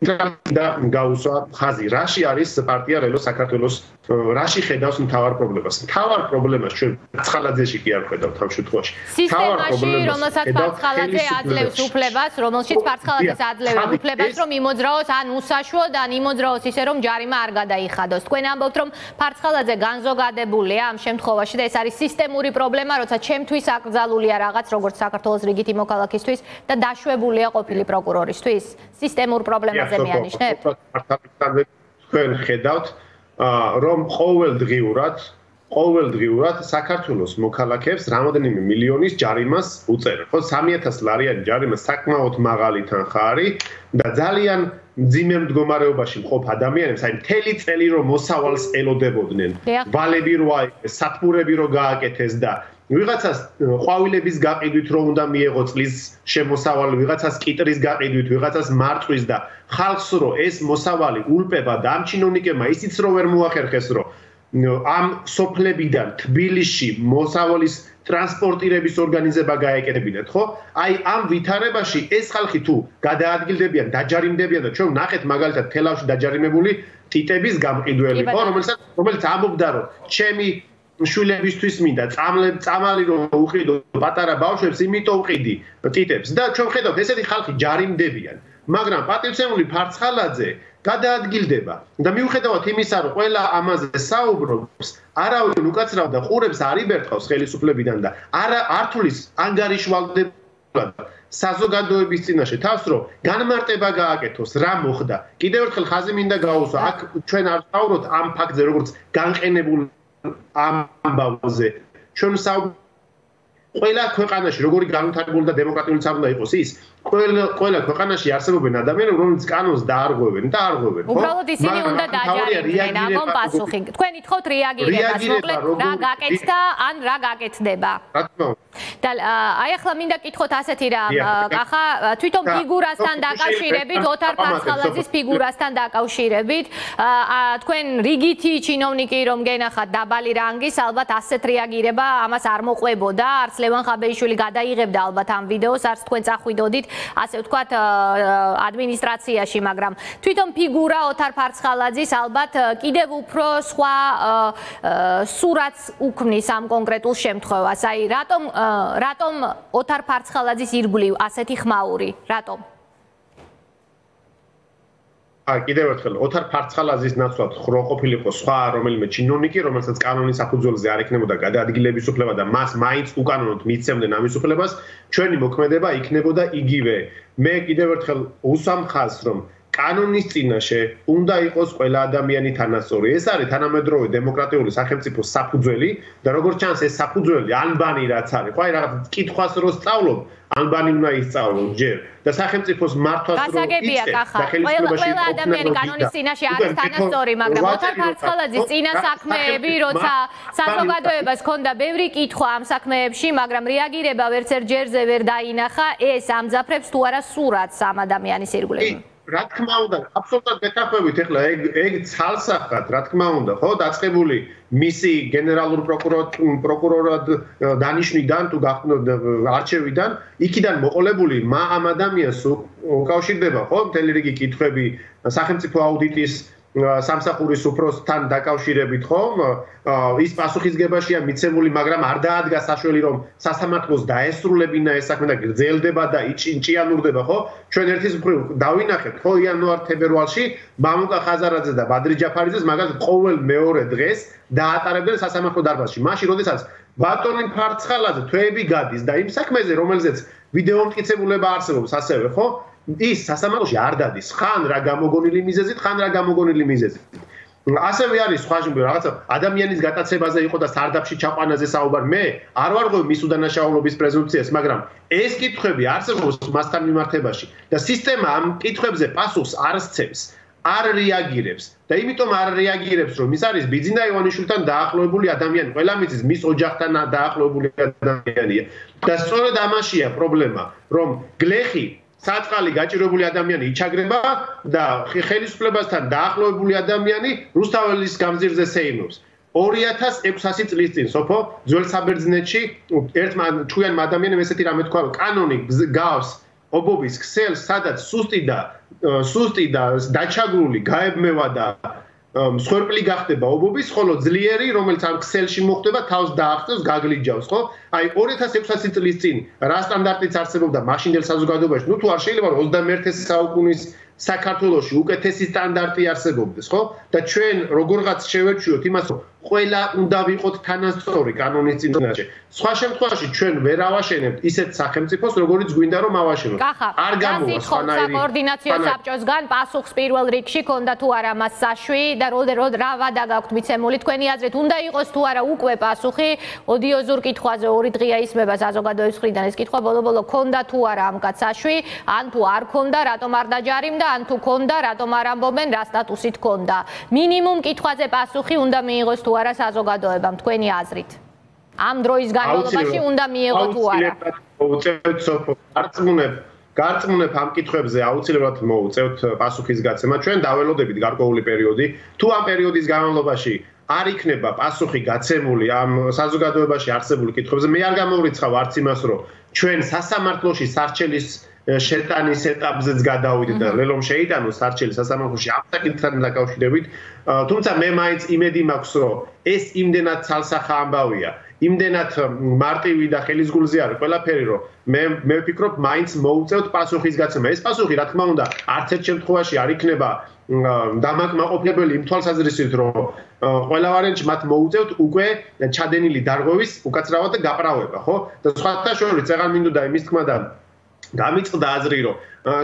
და გაუსვა ხაზი. რაში არის პარტია რელო საქართველოს რაში ხედავს მთავარ პრობლემას? მთავარ პრობლემას ჩვენ ფარცხალაძეში კი არ ხედავთ ამ შემთხვევაში. სისტემაში, რომელსაც ფარცხალაძე აძლევს უფლებას, რომელშიც ფარცხალაძეს აძლევს უფლებას, რომ იმოძრაოს ან უსაშუოდ, ან იმოძრაოს ისე, რომ ჯარიმა არ გადაიხადოს. თქვენ ამბობთ, რომ ფარცხალაძე განზოგადებულია ამ შემთხვევაში და ეს არის სისტემური პრობლემა, როცა ჩემთვის აკრძალულია რაღაც, როგორც საქართველოს რიგითი მოქალაქისთვის და დაშვებულია ყოფილი პროკურორისთვის. სისტემურ პრობლემაზე მეანიშნებ? თქვენ ხედავთ რომ ყოველდღიურად ყოველდღიურად საქართველოს მოქალაქეებს რამოდენიმე მილიონის ჯარიმას უწევენ. ხო, სამი ათასი ლარიანი ჯარიმა საკმაოდ მაღალი თანხა არის და ძალიან მძიმე მდგომარეობაში მყოფ ადამიანებს, აი მთელი წელი რომ მოსავალს ელოდებოდნენ, ვალები რო აიღეს, სათბურები რო გააკეთეს და ვიღაცას ყვავილების გაყიდვით რომ უნდა მიეღო წლის შემოსავალი, ვიღაცას კიტრის გაყიდვით, ვიღაცას მარწვის და ხალხს რო ეს მოსავალი ულპება და ამ ჩინოვნიკებმა ისიც რო ვერ მოახერხეს რომ ამ სოფლებიდან თბილისში მოსავალის ტრანსპორტირების ორგანიზება გაეკეთებინათ, ხო? აი ამ ვითარებაში ეს ხალხი თუ გადაადგილდებიან, დაჯარიმდებიან და ჩვენ ნახეთ მაგალითად თელავში დაჯარიმებული ტიტების გამყიდველი, ხო, რომელსაც რომელიც ამბობდა რომ ჩემი შვილებისთვის მინდა წამალი რომ უყიდო პატარა ბავშვებს, იმიტომ ვყიდი ტიტებს და ჩვენ ხედავთ ესეთი ხალხი ჯარიმდებიან, მაგრამ პატივცემული ფარცხალაძე გადაადგილდება და მიუხედავად იმისა, რომ ყველა ამაზე საუბრობს, არავინ უკაცრავ და ყურებს არ იბერტყავს ხელისუფლებიდან და არა ართulis ანგარიშვალდებულად საზოგადოების წინაშე თავს რომ განმარტება გააკეთოს, რა მოხდა. კიდევ ერთხელ ხაზი მინდა გაუსვა, აქ ჩვენ არ ვსაუბრობთ ამ ფაქტზე, როგორც განყენებულ ამბავზე. ჩვენ საუბრობთ ყველა ქვეყანაში როგორი განვითარებული და დემოკრატიული უნდა იყოს ის, ყველა ყველა ქვეყანაში არსებობენ ადამიანები, რომლებიც კანონს დაარღვევენ და არღვევენ, ხო? უბრალოდ ისინი უნდა დაჯარიმდნენ, ამონ პასუხი. თქვენ ითხოვთ რეაგირებას, მოკლედ რა გაკეთდა ან რა გაკეთდება. რა თქმა უნდა. და აი ახლა მინდა კითხოთ ასეთი რამ, კახა, თვითონ ფიგურასთან დაკავშირებით, ოთარ ფარცხალაძის ფიგურასთან დაკავშირებით, თქვენ რიგითი ჩინოვნიკი რომ გენახათ დაბალი რანგის, ალბათ ასეთ რეაგირება ამას არ მოყვებოდა, არც ლევან ხაბეიშვილი გადაიღებდა ალბათ ამ ვიდეოს, არც თქვენ წახვიდოდით, ასე ვთქვათ, ადმინისტრაციაში, მაგრამ თვითონ ფიგურა ოთარ ფარცხალაძის ალბათ კიდევ უფრო სხვა სურათს უქმნის ამ კონკრეტულ შემთხვევას. აი, რატომ რატომ ოთარ ფარცხალაძის ირგვლივ ასეთი ხმაური? რატომ? აი, კიდევ ერთხელ, ოთარ ფარცხალაძის ნაცვლად ხრო ყოფილიყო სხვა რომელიმე ჩინოვნიკი, რომელსაც კანონის საფუძველზე არ ექნებოდა გადაადგილების უფლება და მას მაინც უკანონოდ მიცემდნენ ამის უფლებას, ჩვენი მოქმედება იქნებოდა იგივე. მე კიდევ ერთხელ უსვამ ხაზს, რომ კანონის წინაშე უნდა იყოს ყველა ადამიანი თანასწორი. ეს არის თანამედროვე დემოკრატიული სახელმწიფოს საფუძველი და როგორც ჩანს ეს საფუძველი ანბანი რაც არის, ხო, აი რაღაც კითხვას რო სწავლობ, ანბანი უნდა ისწავლო ჯერ და სახელმწიფოს მართვას რო გასაგებია კახა. ყველა ადამიანი კანონის წინაშე არის თანასწორი, მაგრამ ოთარ ფარცხალაძის წინა საქმეები, როცა საზოგადოებას ჰქონდა ბევრი კითხვა ამ საქმეებში, მაგრამ რეაგირება ვერც ერთ ჯერზე ვერ დაინახა, ეს ამძაფრებს თუ არა სურათს ამ ადამიანის ირგვლივ. რა თქმა უნდა, აბსოლუტურად მეთანხმებით, ეხლა ეგ ეგ ცალსახად, რა თქმა უნდა, ხო, დაწყებული მისი გენერალურ პროკურორად დანიშვნიდან თუ არჩევიდან, იქიდან მოყოლებული ამ ადამიანს უკავშირდება, ხო, მთელი რიგი კითხვები სახელმწიფო აუდიტის სამსახურის უფროსთან დაკავშირებით, ხო, ის პასუხისგებაშია მიცემული, მაგრამ არ დაადგა საშველი, რომ სასამართლოს დაესრულებინა ეს საქმე და გრძელდება და ჭიანურდება, ხო? ჩვენ ერთის მხრივ დავინახეთ, ხო, იანვარ-თებერვალში მამუკა ხაზარაძე და ბადრი ჯაფარიძეს მაგალითად ყოველ მეორე დღეს დაატარებდნენ სასამართლო დარბაზში. მაშინ, როდესაც ბატონი ფარცხალაძე თვეები გადის და იმ საქმეზე, რომელზეც ვიდეო მტკიცებულება არსებობს, ასევე, ხო? ის სასამართლოში არ დადის, ხან რა გამოგონილი მიზეზით, ხან რა გამოგონილი მიზეზით. ასევე არის სხვა რაღაცა ადამიანის გატაცებაზე იყო და სარდაფში ჩაყვანაზე საუბარი. მე არ ვარღვევ მის უდანაშაულობის პრეზუმპციას, მაგრამ ეს კითხვები არსებობს მასთან მიმართებაში და სისტემა ამ კითხვებზე პასუხს არ სცემს, არ რეაგირებს და იმიტომ არ რეაგირებს, რომ ის არის ბიძინა ივანიშვილთან დაახლოებული ადამიანი, ყველა მიწის მის ოჯახთან დაახლოებული ადამიანია. და სწორედ ამაშია პრობლემა, რომ გლეხი საწყალი გაჭირებული ადამიანი იჩაგრება და ხელისუფლებასთან დაახლოებული ადამიანი რუსთაველის გამზირზე სეიმობს. ორი ათას ექვსასი წლის წინ სოფო ძველ საბერძნეთში ერთმა ჩვენმა ადამიანმა ესეთი რამე თქვა, რომ კანონი გავს ობობის ქსელს, სადაც სუსტი და სუსტი და დაჩაგრული გაებმევა და მსხვერპლი გახდება ობობის, ხოლო ძლიერი, რომელიც ამ ქსელში მოხვდება, თავს დააღწევს, გაგლიჯავს, ხო? აი ორი ათას ექვსი წლის წინ რა სტანდარტიც არსებობდა მაშინდელ საზოგადოებაში, ნუ თუ არ შეიძლება ოცდამეერთე საუკუნის საქართველოში უკეთესი სტანდარტი არსებობდეს, ხო? და ჩვენ როგორღაც შევერჩიოთ იმას, რომ ყველა უნდა ვიყოთ თანასწორი კანონის წინაშე. სხვა შემთხვევაში ჩვენ ვერ ავაშენებთ ისეთ სახელმწიფოს, როგორიც გვინდა რომ ავაშენოთ. არ გამოვა სხვანაირი საკოორდინაციო საბჭოსგან პასუხს პირველ რიგში ქონდა თუ არა მას საშვი და რო რა ვადა გაქვთ მიცემული თქვენი აზრით, უნდა იყოს თუ არა უკვე პასუხი ოდიოზურ კითხვაზე ორი დღეა ისმება საზოგადოების მხრიდან ეს კითხვა ბოლო-ბოლო ქონდა თუ არა ამ კაცს საშვი, ან თუ არ ქონდა, რატომ არ დაჯარიმდა, ან თუ ქონდა, რატომ არ ამბობენ, რა სტატუსით ქონდა. მინიმუმ კითხვაზე პასუხი უნდა მიიღოს თუ არა საზოგადოებამ თქვენი აზრით. ამ დროის განმავლობაში უნდა მიიღო თუ არა. მოუწევთ სოფო გარწმუნებ გარწმუნებ ამ კითხვებზე აუცილებლად მოუწევთ პასუხის გაცემა. ჩვენ დაველოდებით გარკვეული პერიოდი, თუ ამ პერიოდის განმავლობაში არ იქნება პასუხი გაცემული ამ საზოგადოებაში არსებული კითხვებზე, მე არ გამოვრიცხავ არც იმას, რომ ჩვენ სასამართლოში სარჩელის შეტანის ეტაპზეც გადავიდეთ და ლელომ შეიტანოს სარჩელი სასამართლოში ამ საკითხთან დაკავშირებით, თუმცა მე მაინც იმედი მაქვს, რომ ეს იმდენად ცალსახა ამბავია, იმდენად მარტივი და ხელისგულზე არის ყველაფერი, რომ მე მე ვფიქრობ, მაინც მოუწევთ პასუხის გაცემა. ეს პასუხი, რა თქმა უნდა, არც ერთ შემთხვევაში არ იქნება დამაკმაყოფილებელი იმ თვალსაზრისით, რომ ყველა ვარიანტში მათ მოუწევთ უკვე ჩადენილი დარღვევის უკაცრავად და გაправება, ხო? და სხვათა შორის წეღან მინდოდა იმის თქმა და გამიწყდა აზრი, რომ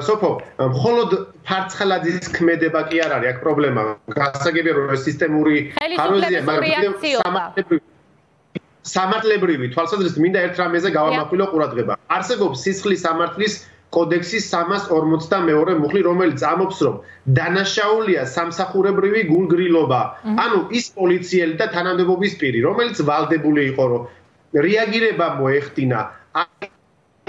სოფო, მხოლოდ ფარცხლაძის ქმედება კი არ არის აქ პრობლემა. გასაგებია, რომ ეს სისტემური ხაროზია, მაგრამ სამართლებრივი სამართლებრივი თვალსაზრისით მინდა ერთ რამეზე გავამახვილო ყურადღება. არსებობს სისხლის სამართლის კოდექსის სამას ორმოცდამეორე მუხლი, რომელიც ამობს, რომ დანაშაულია სამსახურებრივი გულგრილობა. ანუ ის პოლიციელი და თანამდებობის პირი, რომელიც ვალდებული იყო, რომ რეაგირება მოეხდინა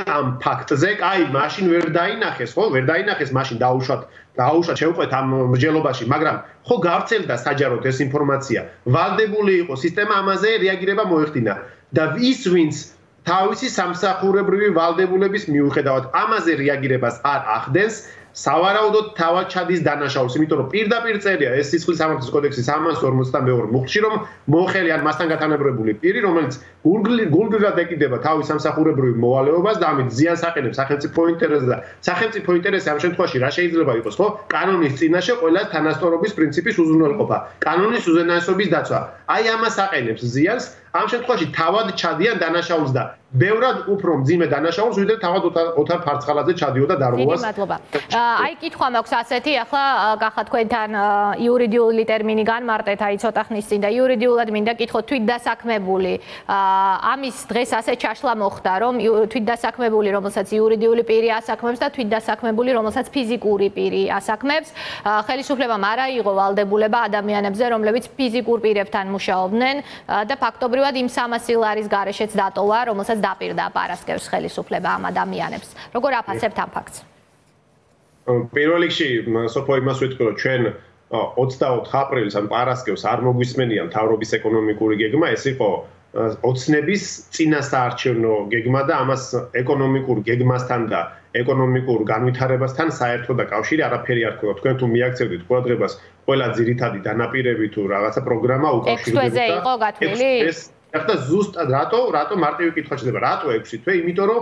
ამ ფაქტზე, აი, მაშინ ვერ დაინახეს, ხო? ვერ დაინახეს, მაშინ დაუშვათ, დაუშვათ შევყვეთ ამ მსჯელობაში, მაგრამ ხო გავრცელდა საჯაროდ ეს ინფორმაცია. ვალდებული იყო სისტემა ამაზე რეაგირება მოეხდინა და ის ვინც თავისი სამსახურებრივი ვალდებულების მიუხედავად ამაზე რეაგირებას არ ახდენს, სავარაუდოდ თავად ჩადის დანაშაულს, იმიტომ რომ პირდაპირ წერია ეს სისხლის სამართლის კოდექსის სამას ორმოცდამეორე მუხლში, რომ მოხელი ან მასთან გათანაბრებული პირი, რომელიც გულგრილად ეკიდება თავის სამსახურებრივ მოვალეობას და ამით ზიანს აყენებს სახელმწიფო ინტერესს და სახელმწიფო ინტერესი ამ შემთხვევაში რა შეიძლება იყოს, ხო? კანონის წინაშე ყველა თანასწორობის პრინციპის უზრუნველყოფა, კანონის უზენაესობის დაცვა. აი ამას აყენებს ზიანს, ამ შემთხვევაში თავად ჩადიან დანაშაულს და ბევრად უფრო მძიმე დანაშაულს, ვიდრე თავად ოთარ ფარცხალაძე ჩადიოდა დარღვევას. დიდი მადლობა. აი კითხვა მაქვს ასეთი, ახლა გახა თქვენთან იურიდიული ტერმინი განმარტეთ, აი ცოტა ხნის წინ და იურიდიულად მინდა კითხოთ თვითდასაქმებული. ამის დღეს ასე ჩაშლა მოხდა, რომ თვითდასაქმებული, რომელსაც იურიდიული პირი ასაქმებს და თვითდასაქმებული, რომელსაც ფიზიკური პირი ასაქმებს, ხელისუფლებამ არ აიღო ვალდებულება ადამიანებზე, რომლებიც ფიზიკურ პირებთან მუშაობდნენ და ფაქტობრივად იმ სამასი ლარის გარეშეც დატოვა, რომელსაც დაპირდა პარასკევს ხელისუფლება ამ ადამიანებს. როგორ აფასებთ ამ ფაქტს? პირველ რიგში სოფო იმას ვიტყვი, რომ ჩვენ ოცდაოთხ აპრილს ან პარასკევს არ მოგვისმენია მთავრობის ეკონომიკური გეგმა, ეს იყო ოცნების წინასაარჩევნო გეგმა და ამას ეკონომიკურ გეგმასთან და ეკონომიკურ განვითარებასთან საერთო და კავშირი არაფერი არ ქონდა. თქვენ თუ მიაქცევდით ყურადღებას, ყველა ძირითადი დანაპირები თუ რაღაცა პროგრამა უკავშირდებოდა. ექვსი თვეზე იყო გათვლილი? ახლა ზუსტად რატო, რატო მარტივი კითხვა შეიძლება, რატო ექვსი თვე? იმიტომ რომ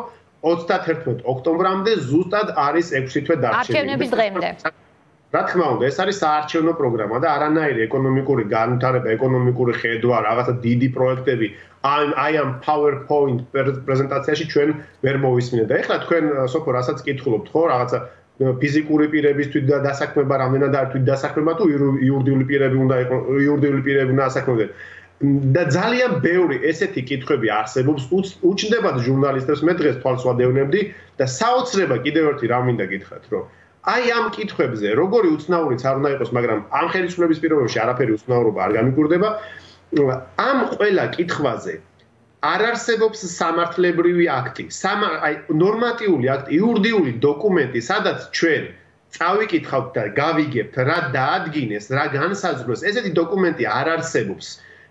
ოცდათერთმეტ ოქტომბრამდე ზუსტად არის ექვსი თვე დარჩენილი. არჩევნების დღემდე. რა თქმა უნდა, ეს არის საარჩევნო პროგრამა და არანაირი ეკონომიკური განვითარება, ეკონომიკური ხედვა, რაღაცა დიდი პროექტები აი ამ PowerPoint პრეზენტაციაში ჩვენ ვერ მოვისმინეთ. და ეხლა თქვენ სოფო რასაც კითხულობთ, ხო, რაღაცა ფიზიკური პირების თვითდასაქმება, რამდენად არის თვითდასაქმება თუ იურიდიული პირები უნდა იყოს, იურიდიული პირები უნდა ასაქმებდნენ. და ძალიან ბევრი ესეთი კითხვები არსებობს, უჩნდებათ ჟურნალისტებს, მე დღეს თვალს ვადევნებდი და საოცრება კიდევ ერთი რა მინდა გითხრათ, რომ აი ამ კითხვებზე, როგორი უცნაურიც არ უნდა იყოს, მაგრამ ამ ხელისუფლების პირობებში არაფერი უცნაურობა არ გამიკვირდება, ამ ყველა კითხვაზე არ არსებობს სამართლებრივი აქტი, აი ნორმატიული აქტი, იურიდიული დოკუმენტი, სადაც ჩვენ წავიკითხავთ და გავიგებთ, რა დაადგინეს, რა განსაზღვრეს, ესეთი დოკუმენტი არ არსებობს.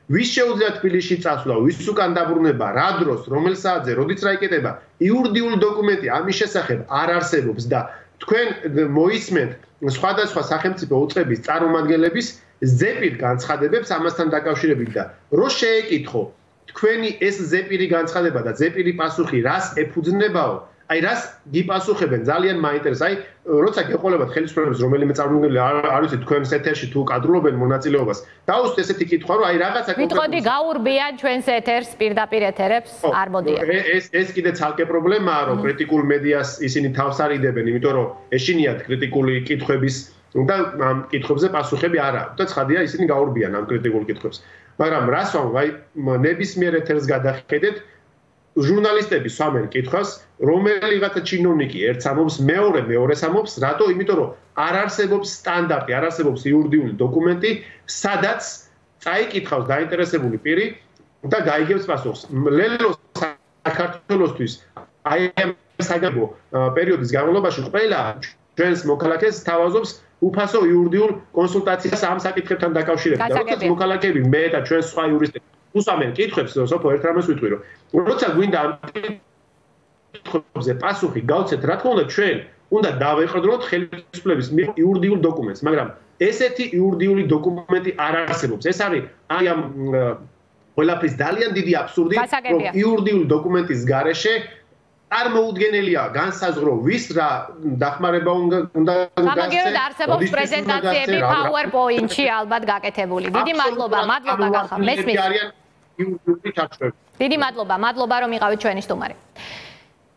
ვის შეუძლია თბილისში წასვლა, ვის უკან დაბრუნება, რა დროს, რომელ საათზე, როდიც რა იკეთება, იურიდიული დოკუმენტი ამის შესახებ არ არსებობს და თქვენ მოისმენთ სხვადასხვა სახელმწიფო უწყების წარმომადგენლების ზეპირ განცხადებებს ამასთან დაკავშირებით და რო შეეკითხო თქვენი ეს ზეპირი განცხადება და ზეპირი პასუხი რას ეფუძნებაო, აი რას გიპასუხებენ ძალიან მაინტერესებს. აი როცა გეყოლებათ ხელისუფლების რომელიმე წარმომადგენელი არ ვიცი თქვენს ეთერში თუ კადრულობენ მონაწილეობას, დაუშვით ესეთი კითხვა, რომ აი რაღაცა ვიტყოდი გაურბიან ჩვენს ეთერს პირდაპირ ეთერებს არ მოდიან. ეს ეს კიდე ცალკე პრობლემაა, რომ კრიტიკულ მედიას ისინი თავს არიდებენ, იმიტომ რომ ეშინიათ კრიტიკული კითხვების და ამ კითხვებზე პასუხები არ აქვს და ცხადია ისინი გაურბიან ამ კრიტიკულ კითხვებს. მაგრამ რას ვამ, აი ნებისმიერ ეთერს გადახედეთ ჟურნალისტები სვამენ კითხვას, რომელიღაცა ჩინოვნიკი ერთს ამობს, მეორე მეორეს ამობს, რატო? იმიტომ რომ არ არსებობს სტანდარტი, არ არსებობს იურიდიული დოკუმენტი, სადაც წაიკითხავს დაინტერესებული პირი და გაიგებს პასუხს. ლელო საქართველოსთვის აი ამ საგანგებო პერიოდის განმავლობაში ყველა ჩვენს მოქალაქეს თავაზობს უფასო იურიდიულ კონსულტაციას ამ საკითხებთან დაკავშირებით. როდესაც მოქალაქეები მე და ჩვენ სხვა იურისტები უსამენ კითხვებს, სოფო ერთ რამეს ვიტყვი, რომ როცა გვინდა ამ კითხვებზე პასუხი გავცეთ, რა თქმა უნდა, ჩვენ უნდა დავეყრდნოთ ხელისუფლების იურიდიულ დოკუმენტს, მაგრამ ესეთი იურიდიული დოკუმენტი არ არსებობს. ეს არის აი ამ ყველაფრის ძალიან დიდი აბსურდი, რომ იურიდიული დოკუმენტის გარეშე წარმოუდგენელია განსაზღვრო ვის რა დახმარება უნდა გამაგეროთ არსებობს პრეზენტაციები PowerPoint-ში ალბათ გაკეთებული. დიდი მადლობა, მადლობა გახა. მესმის. დიდი მადლობა, მადლობა რომ იყავით ჩვენი სტუმარი.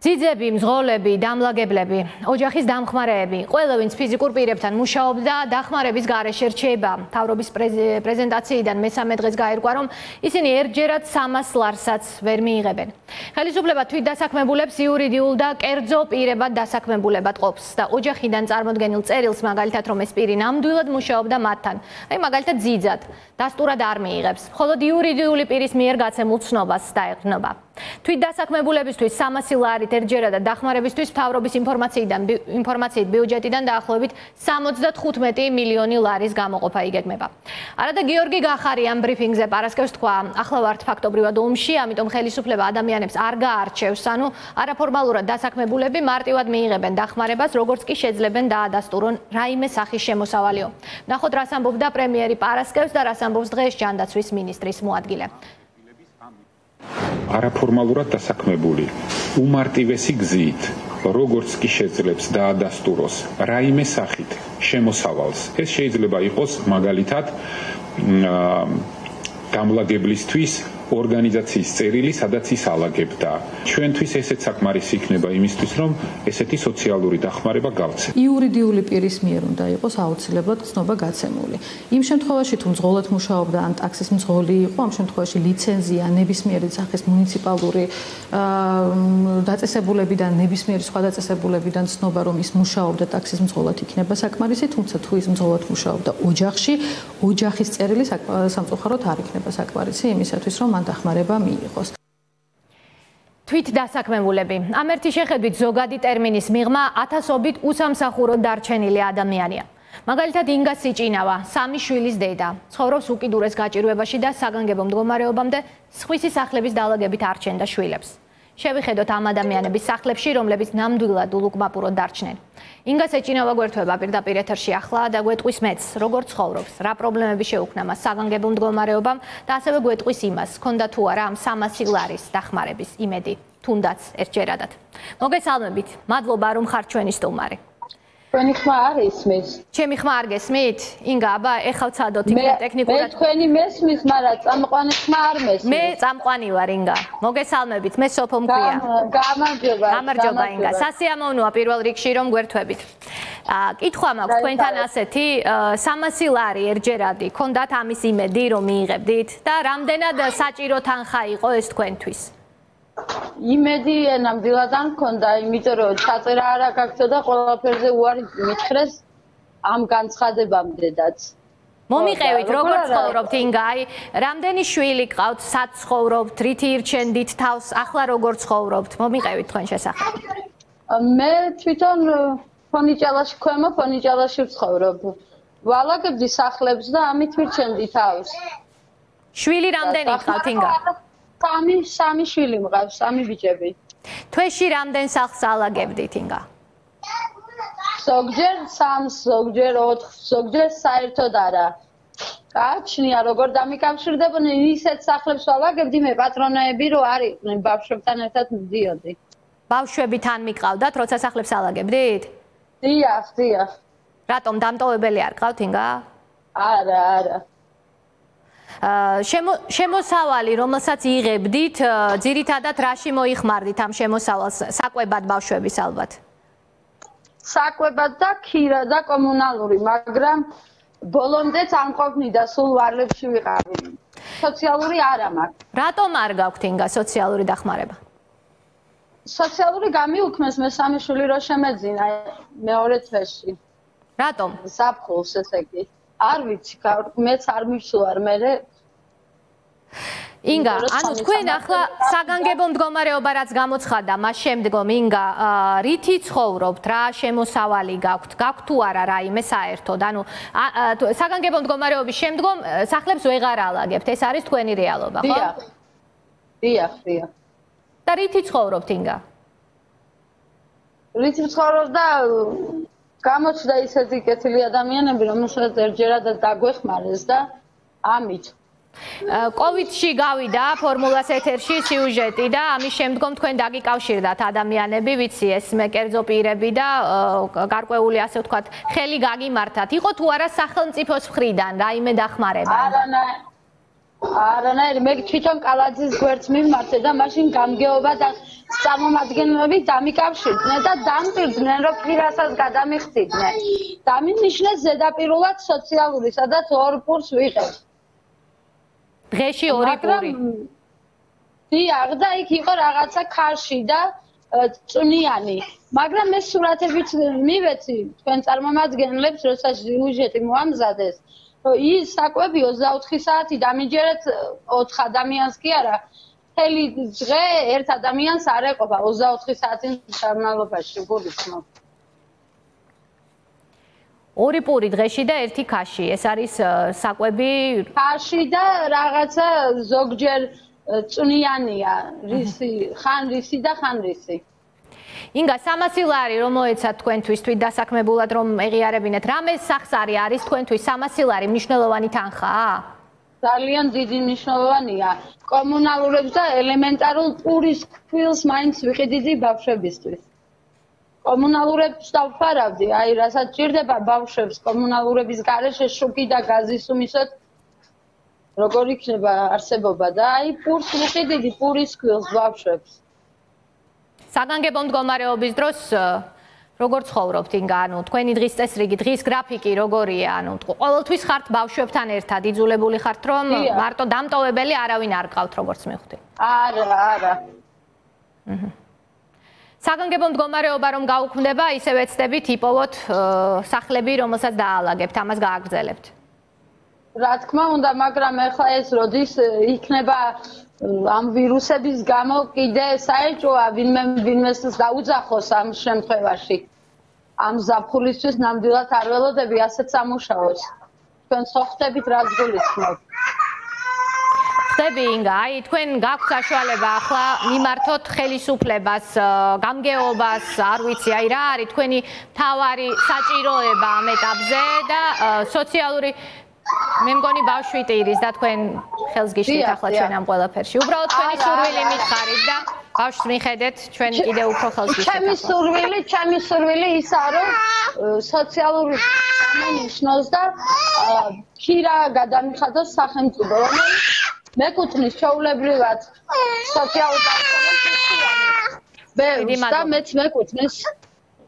ძიძები, მზღოლები, დამლაგებლები, ოჯახის დამხმარეები, ყველა ვინც ფიზიკურ პირებთან მუშაობდა, დახმარების გარეშე რჩება. მთავრობის პრეზენტაციიდან მესამე დღეს გაირკვა, რომ ისინი ერთჯერად სამას ლარსაც ვერ მიიღებენ. ხელისუფლება თვითდასაქმებულებს იურიდიულ და კერძო პირებად დასაქმებულებად ყოფს და ოჯახიდან წარმოდგენილ წერილს, მაგალითად, რომ ეს პირი ნამდვილად მუშაობდა მათთან, აი მაგალითად ძიძად, დასტურად არ მიიღებს, მხოლოდ იურიდიული პირის მიერ გაცემულ ცნობას დაეყრდნობა. თვითდასაქმებულებისთვის სამასი ლარით ერთჯერადად დახმარებისთვის მთავრობის ინფორმაციიდან ინფორმაციით ბიუჯეტიდან დაახლოებით სამოცდათხუთმეტი მილიონი ლარის გამოყოფა იგეგმება. არადა გიორგი გახარიან ბრიფინგზე პარასკევს თქვა, ახლა ვართ ფაქტობრივად ომში, ამიტომ ხელისუფლება ადამიანებს არ გაარჩევს, ანუ არაფორმალურად დასაქმებულები მარტივად მიიღებენ დახმარებას, როგორც კი შეძლებენ დაადასტურონ რაიმე სახის შემოსავალიო. ნახოთ რას ამბობდა პრემიერი პარასკევს და რას ამბობს დღეს ჯანდაცვის მინისტრის მოადგილე. არაფორმალურად დასაქმებული უმარტივესი გზით, როგორც კი შეძლებს დაადასტუროს რაიმე სახით შემოსავალს. ეს შეიძლება იყოს მაგალითად გამლაგებლისთვის ორგანიზაციის წერილი, სადაც ის ალაგებდა. ჩვენთვის ესეც საკმარისი იქნება იმისთვის, რომ ესეთი სოციალური დახმარება გავცეთ. იურიდიული პირის მიერ უნდა იყოს აუცილებლად ცნობა გაცემული. იმ შემთხვევაში, თუ მძღოლად მუშაობდა ან ტაქსის მძღოლი იყო, ამ შემთხვევაში ლიცენზია ნებისმიერი სახის მუნიციპალური დაწესებულებიდან, ნებისმიერი სხვა დაწესებულებიდან ცნობა, რომ ის მუშაობდა ტაქსის მძღოლად იქნება საკმარისი, თუმცა თუ ის მძღოლად მუშაობდა ოჯახში, ოჯახის წერილი სამწუხაროდ არ იქნება საკმარისი იმისათვის, რომ დახმარება მიიღოს. თვით დასაქმებულები. ამ ერთი შეხედვით ზოგადი ტერმინის მიღმა ათასობით უსამსახუროდ დარჩენილი ადამიანია. მაგალითად ინგა სიჭინავა, სამი შვილის დედა, ცხოვრობს უკიდურეს გაჭირვებაში და საგანგებო მდგომარეობამდე სხვისი სახლების დალაგებით არჩენდა შვილებს. შევიხედოთ ამ ადამიანების სახლებში, რომლებიც ნამდვილად ულუკმაპუროდ დარჩნენ. ინგა სიჭინავა გვერდება პირდაპირ ეთერში ახლა და გვეტყვის მეც, როგორ ცხოვრობს, რა პრობლემები შეუქმნა მას საგანგებო მდგომარეობამ და ასევე გვეტყვის იმას, ჰქონდა თუ არა ამ სამასი ლარის დახმარების იმედი, თუნდაც ერთჯერადად. მოგესალმებით, მადლობა რომ ხართ ჩვენი სტუმარი. თქვენი ხმა არ ისმის. ჩემი ხმა არ გესმით? ინგა, აბა, ეხლა ვცადოთ იქნებ ტექნიკურად. მე თქვენი მესმის, მაგრამ წამყვანი ხმა არ მესმის. მე წამყვანი ვარ, ინგა. მოგესალმებით, მე სოფო მქვია. გამარჯობა. გამარჯობა, ინგა. სასიამოვნოა პირველ რიგში რომ გვერთვებით. აა, კითხვა მაქვს თქვენთან ასეთი, სამასი ლარი ერთჯერადი, ქონდათ ამის იმედი რომ მიიღებდით და რამდენად საჭირო თანხა იყო ეს თქვენთვის? იმედი ნამდვილად არ მქონდა, იმიტომ რომ ჩაწერა არა გაქცია და ყველაფერზე უარი მითხრეს ამ განცხადებამდედაც. მომიყევით, როგორ ცხოვრობთ ინგა? აი, რამდენი შვილი გყავთ, სად ცხოვრობთ, რითი ირჩენდით თავს, ახლა როგორ ცხოვრობთ? მომიყევით თქვენ შესახებ. მე თვითონ ფონიჭალაში, ქვემო ფონიჭალაში ვცხოვრობ. ვალაგებდი სახლებს და ამით ვირჩენდი თავს. შვილი რამდენი გყავთ ინგა? სამი სამი შვილი მყავს, სამი ბიჭები. თვეში რამდენ სახლს ალაგებდით ინგა? ზოგჯერ სამს, ზოგჯერ ოთხს, ზოგჯერ საერთოდ არა. გააჩნია როგორ დამიკავშირდებოდნენ ისეთ სახლებს ვალაგებდი მე პატრონეები რო არ იყვნენ ბავშვებთან ერთად მიდიოდი. ბავშვები თან მიყავდათ როცა სახლებს ალაგებდით? დიახ, დიახ. რატომ დამტოვებელი არ გყავთ ინგა? არა, არა. შემოსავალი, რომელსაც იღებდით, ძირითადად რაში მოიხმარდით ამ შემოსავალს? საკვებად ბავშვების ალბათ. საკვებად და ქირა და კომუნალური, მაგრამ ბოლომდე წამყოფნიდა სულ ვარლებში ვიყავი. სოციალური არა მაქვს. რატომ არ გაქვთ ინგა სოციალური დახმარება? სოციალური გამიუქმეს მესამე შვილი რო შემეძინა მეორე თვეში. რატომ? საფხულს ესე იგი. არ ვიცი, მეც არ მივსუარ მერე. ინგა, ანუ თქვენ ახლა საგანგებო მდგომარეობა რაც გამოცხადა, მას შემდგომ ინგა, რითი ცხოვრობთ, რა შემოსავალი გაქვთ, გაქვთ თუ არა რაიმე საერთოდ? ანუ საგანგებო მდგომარეობის შემდგომ სახლებს ვეღარ ალაგებთ, ეს არის თქვენი რეალობა, ხო? დიახ. დიახ, დიახ. და რითი ცხოვრობთ ინგა? რითი ცხოვრობ და გამოჩნდა ისეთი კეთილი ადამიანები, რომელსაც ერთჯერადად დაგვეხმარეს და ამით. კოვიდში გავიდა ფორმულას ეთერში სიუჟეტი და ამის შემდგომ თქვენ დაგიკავშირდათ ადამიანები, ვიცი ეს მე კერძო პირები და გარკვეული ასე ვთქვათ, ხელი გაგიმართათ. იყო თუ არა სახელმწიფოს მხრიდან რაიმე დახმარება? არანაირი. არანაირი, მე თვითონ კალაძის გვერდს მიმართე და მაშინ გამგეობა და წარმომადგენლები დამიკავშირდნენ და დამტირდნენ, რომ პირასაც გადამიხდიდნენ. დამინიშნეს ზედაპირულად სოციალური, სადაც ორ პურს ვიღებ. დღეში ორი პური. დიახ, და იქ იყო რაღაცა ქარში და წვნიანი. მაგრამ მე სურათებით მივეცი თქვენ წარმომადგენლებს, როცა სიუჟეტი მოამზადეს, რომ ის საკვები ოცდაოთხი საათი დამიჯერეთ ოთხ ადამიანს კი არა, მთელი დღე ერთ ადამიანს არ ეყოფა ოცდაოთხი საათის განმავლობაში, გულისხმობ. ორი პური დღეში და ერთი ქაში, ეს არის საკვები ქაში და რაღაცა ზოგჯერ წვნიანია, რისი, ხან რისი და ხან რისი. ინგა, სამასი ლარი რომ მოეცათ თქვენთვის თვით დასაქმებულად რომ ეღიარებინეთ, რამე სახსარი არის თქვენთვის სამასი ლარი მნიშვნელოვანი თანხაა? ძალიან დიდი მნიშვნელოვანია. კომუნალურებს და ელემენტარულ პურის ქვილს მაინც ვიყიდიდი ბავშვებისთვის. კომუნალურებს დავფარავდი, აი რასაც ჭირდება ბავშვებს კომუნალურების გარეშე შუქი და გაზის უმისოთ როგორ იქნება არსებობა და აი პურს ვიყიდიდი პურის ქვილს ბავშვებს. საგანგებო მდგომარეობის დროს როგორ ცხოვრობთ ინგა, ანუ თქვენი დღის წესრიგი, დღის გრაფიკი როგორია, ანუ ყოველთვის ხართ ბავშვებთან ერთად, იძულებული ხართ რომ მარტო დამტოვებელი არავინ არ გყავთ როგორც მივხვდი? არა, არა. საგანგებო მდგომარეობა რომ გაუქმდება, ისე ვეცდები ტიპოვოთ სახლები, რომელსაც დაალაგებთ, ამას გააგრძელებთ. რა თქმა უნდა, მაგრამ ახლა ეს როდის იქნება ამ ვირუსების გამო კიდე საეჭვოა ვინმე ვინმეს დაუძახოს ამ შემთხვევაში. ამ ზაფხულისთვის ნამდვილად არ ველოდები ასეთ სამუშაოს. თქვენ ხო ხდებით რაც გულისხმობთ. ხდები ინგა, აი თქვენ გაქვთ საშუალება ახლა მიმართოთ ხელისუფლებას, გამგეობას, არ ვიცი, აი რა არის თქვენი მთავარი საჭიროება ამ ეტაპზე და სოციალური მე მგონი ბავშვი ტირის და თქვენ ხელს გიშლით ახლა ჩვენ ამ ყველაფერში. უბრალოდ თქვენი სურვილი მითხარით და ბავშვს მიხედეთ, ჩვენ კიდევ უფრო ხელს გიშლით. ჩემი სურვილი, ჩემი სურვილი ისაა, რომ სოციალური გამონიშნოს და ქირა გადამიხადოს სახელმწიფო, რომელიც მეკუთვნის ჩვეულებრივად სოციალურ დაცვას ბევრს და მეც მეკუთვნის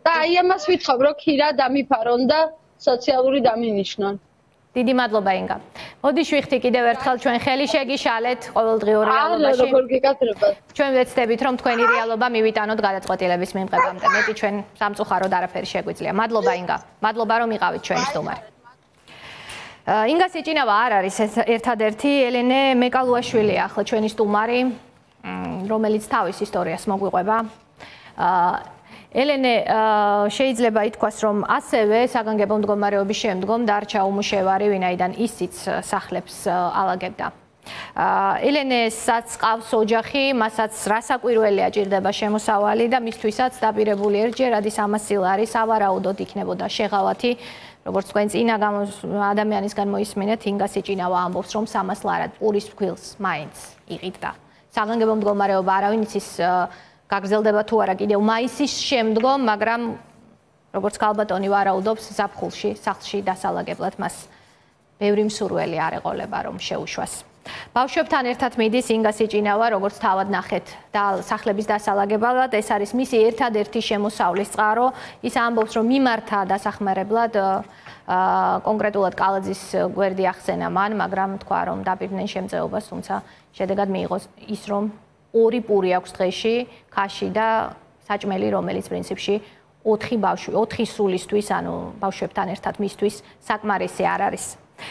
და აი ამას ვითხოვ, რომ ქირა დამიფარონ და სოციალური დამინიშნონ. დიდი მადლობა ინგა. მოდიშ ვიხდი კიდევ ერთხელ ჩვენ ხელი შეგიშალეთ ყოველდღიურ რეალობაში. არა, როგორ გიკეთებათ. ჩვენ ვეცდებით რომ თქვენი რეალობა მივიტანოთ გადაწყვეტილების მიღებამდე. მეტი ჩვენ სამწუხაროდ არაფერი შეგვიძლია. მადლობა ინგა. მადლობა რომ იყავით ჩვენი სტუმარი. ინგა სიჭინავა არ არის ერთადერთი ელენე მეკალუაშვილი ახლა ჩვენი სტუმარი, რომელიც თავის ისტორიას მოგვიყვება. ელენე, შეიძლება ითქვას, რომ ასევე საგანგებო მდგომარეობის შემდგომ დარჩა უმუშევარი, ვინაიდან ისიც სახლებს ალაგებდა. ელენესაც ყავს ოჯახი, მასაც რასაკვირველია ჭირდება შემოსავალი და მისთვისაც დაპირებული ერთჯერადი სამასი ლარი სავარაუდოდ იქნებოდა შეღავათი. როგორც თქვენ წინა ადამიანისგან მოისმინეთ, ინგა სიჭინავა ამბობს, რომ სამას ლარად პურის ფქვილს მაინც იყიდდა. საგანგებო მდგომარეობა არავინ იცის გაგრძელდება თუ არა კიდევ მაისის შემდგომ, მაგრამ როგორც ქალბატონი ვარაუდობს, ზაფხულში, სახლში დასალაგებლად მას ბევრი მსურველი არ ეყოლება, რომ შეუშვას. ბავშვებთან ერთად მიდის ინგა სიჭინავა, როგორც თავად ნახეთ და სახლების დასალაგებლად, ეს არის მისი ერთადერთი შემოსავლის წყარო. ის ამბობს, რომ მიმართა დასახმარებლად კონკრეტულად კალაძის გვერდი ახსენა მან, მაგრამ თქვა, რომ დაპირდნენ შემწეობას, თუმცა შედეგად მიიღო ის, რომ ორი პური აქვს დღეში, ქაში და საჭმელი, რომელიც პრინციპში ოთხი ბავშვი, ოთხი სულისთვის, ანუ ბავშვებთან ერთად მისთვის საკმარისი არ არის.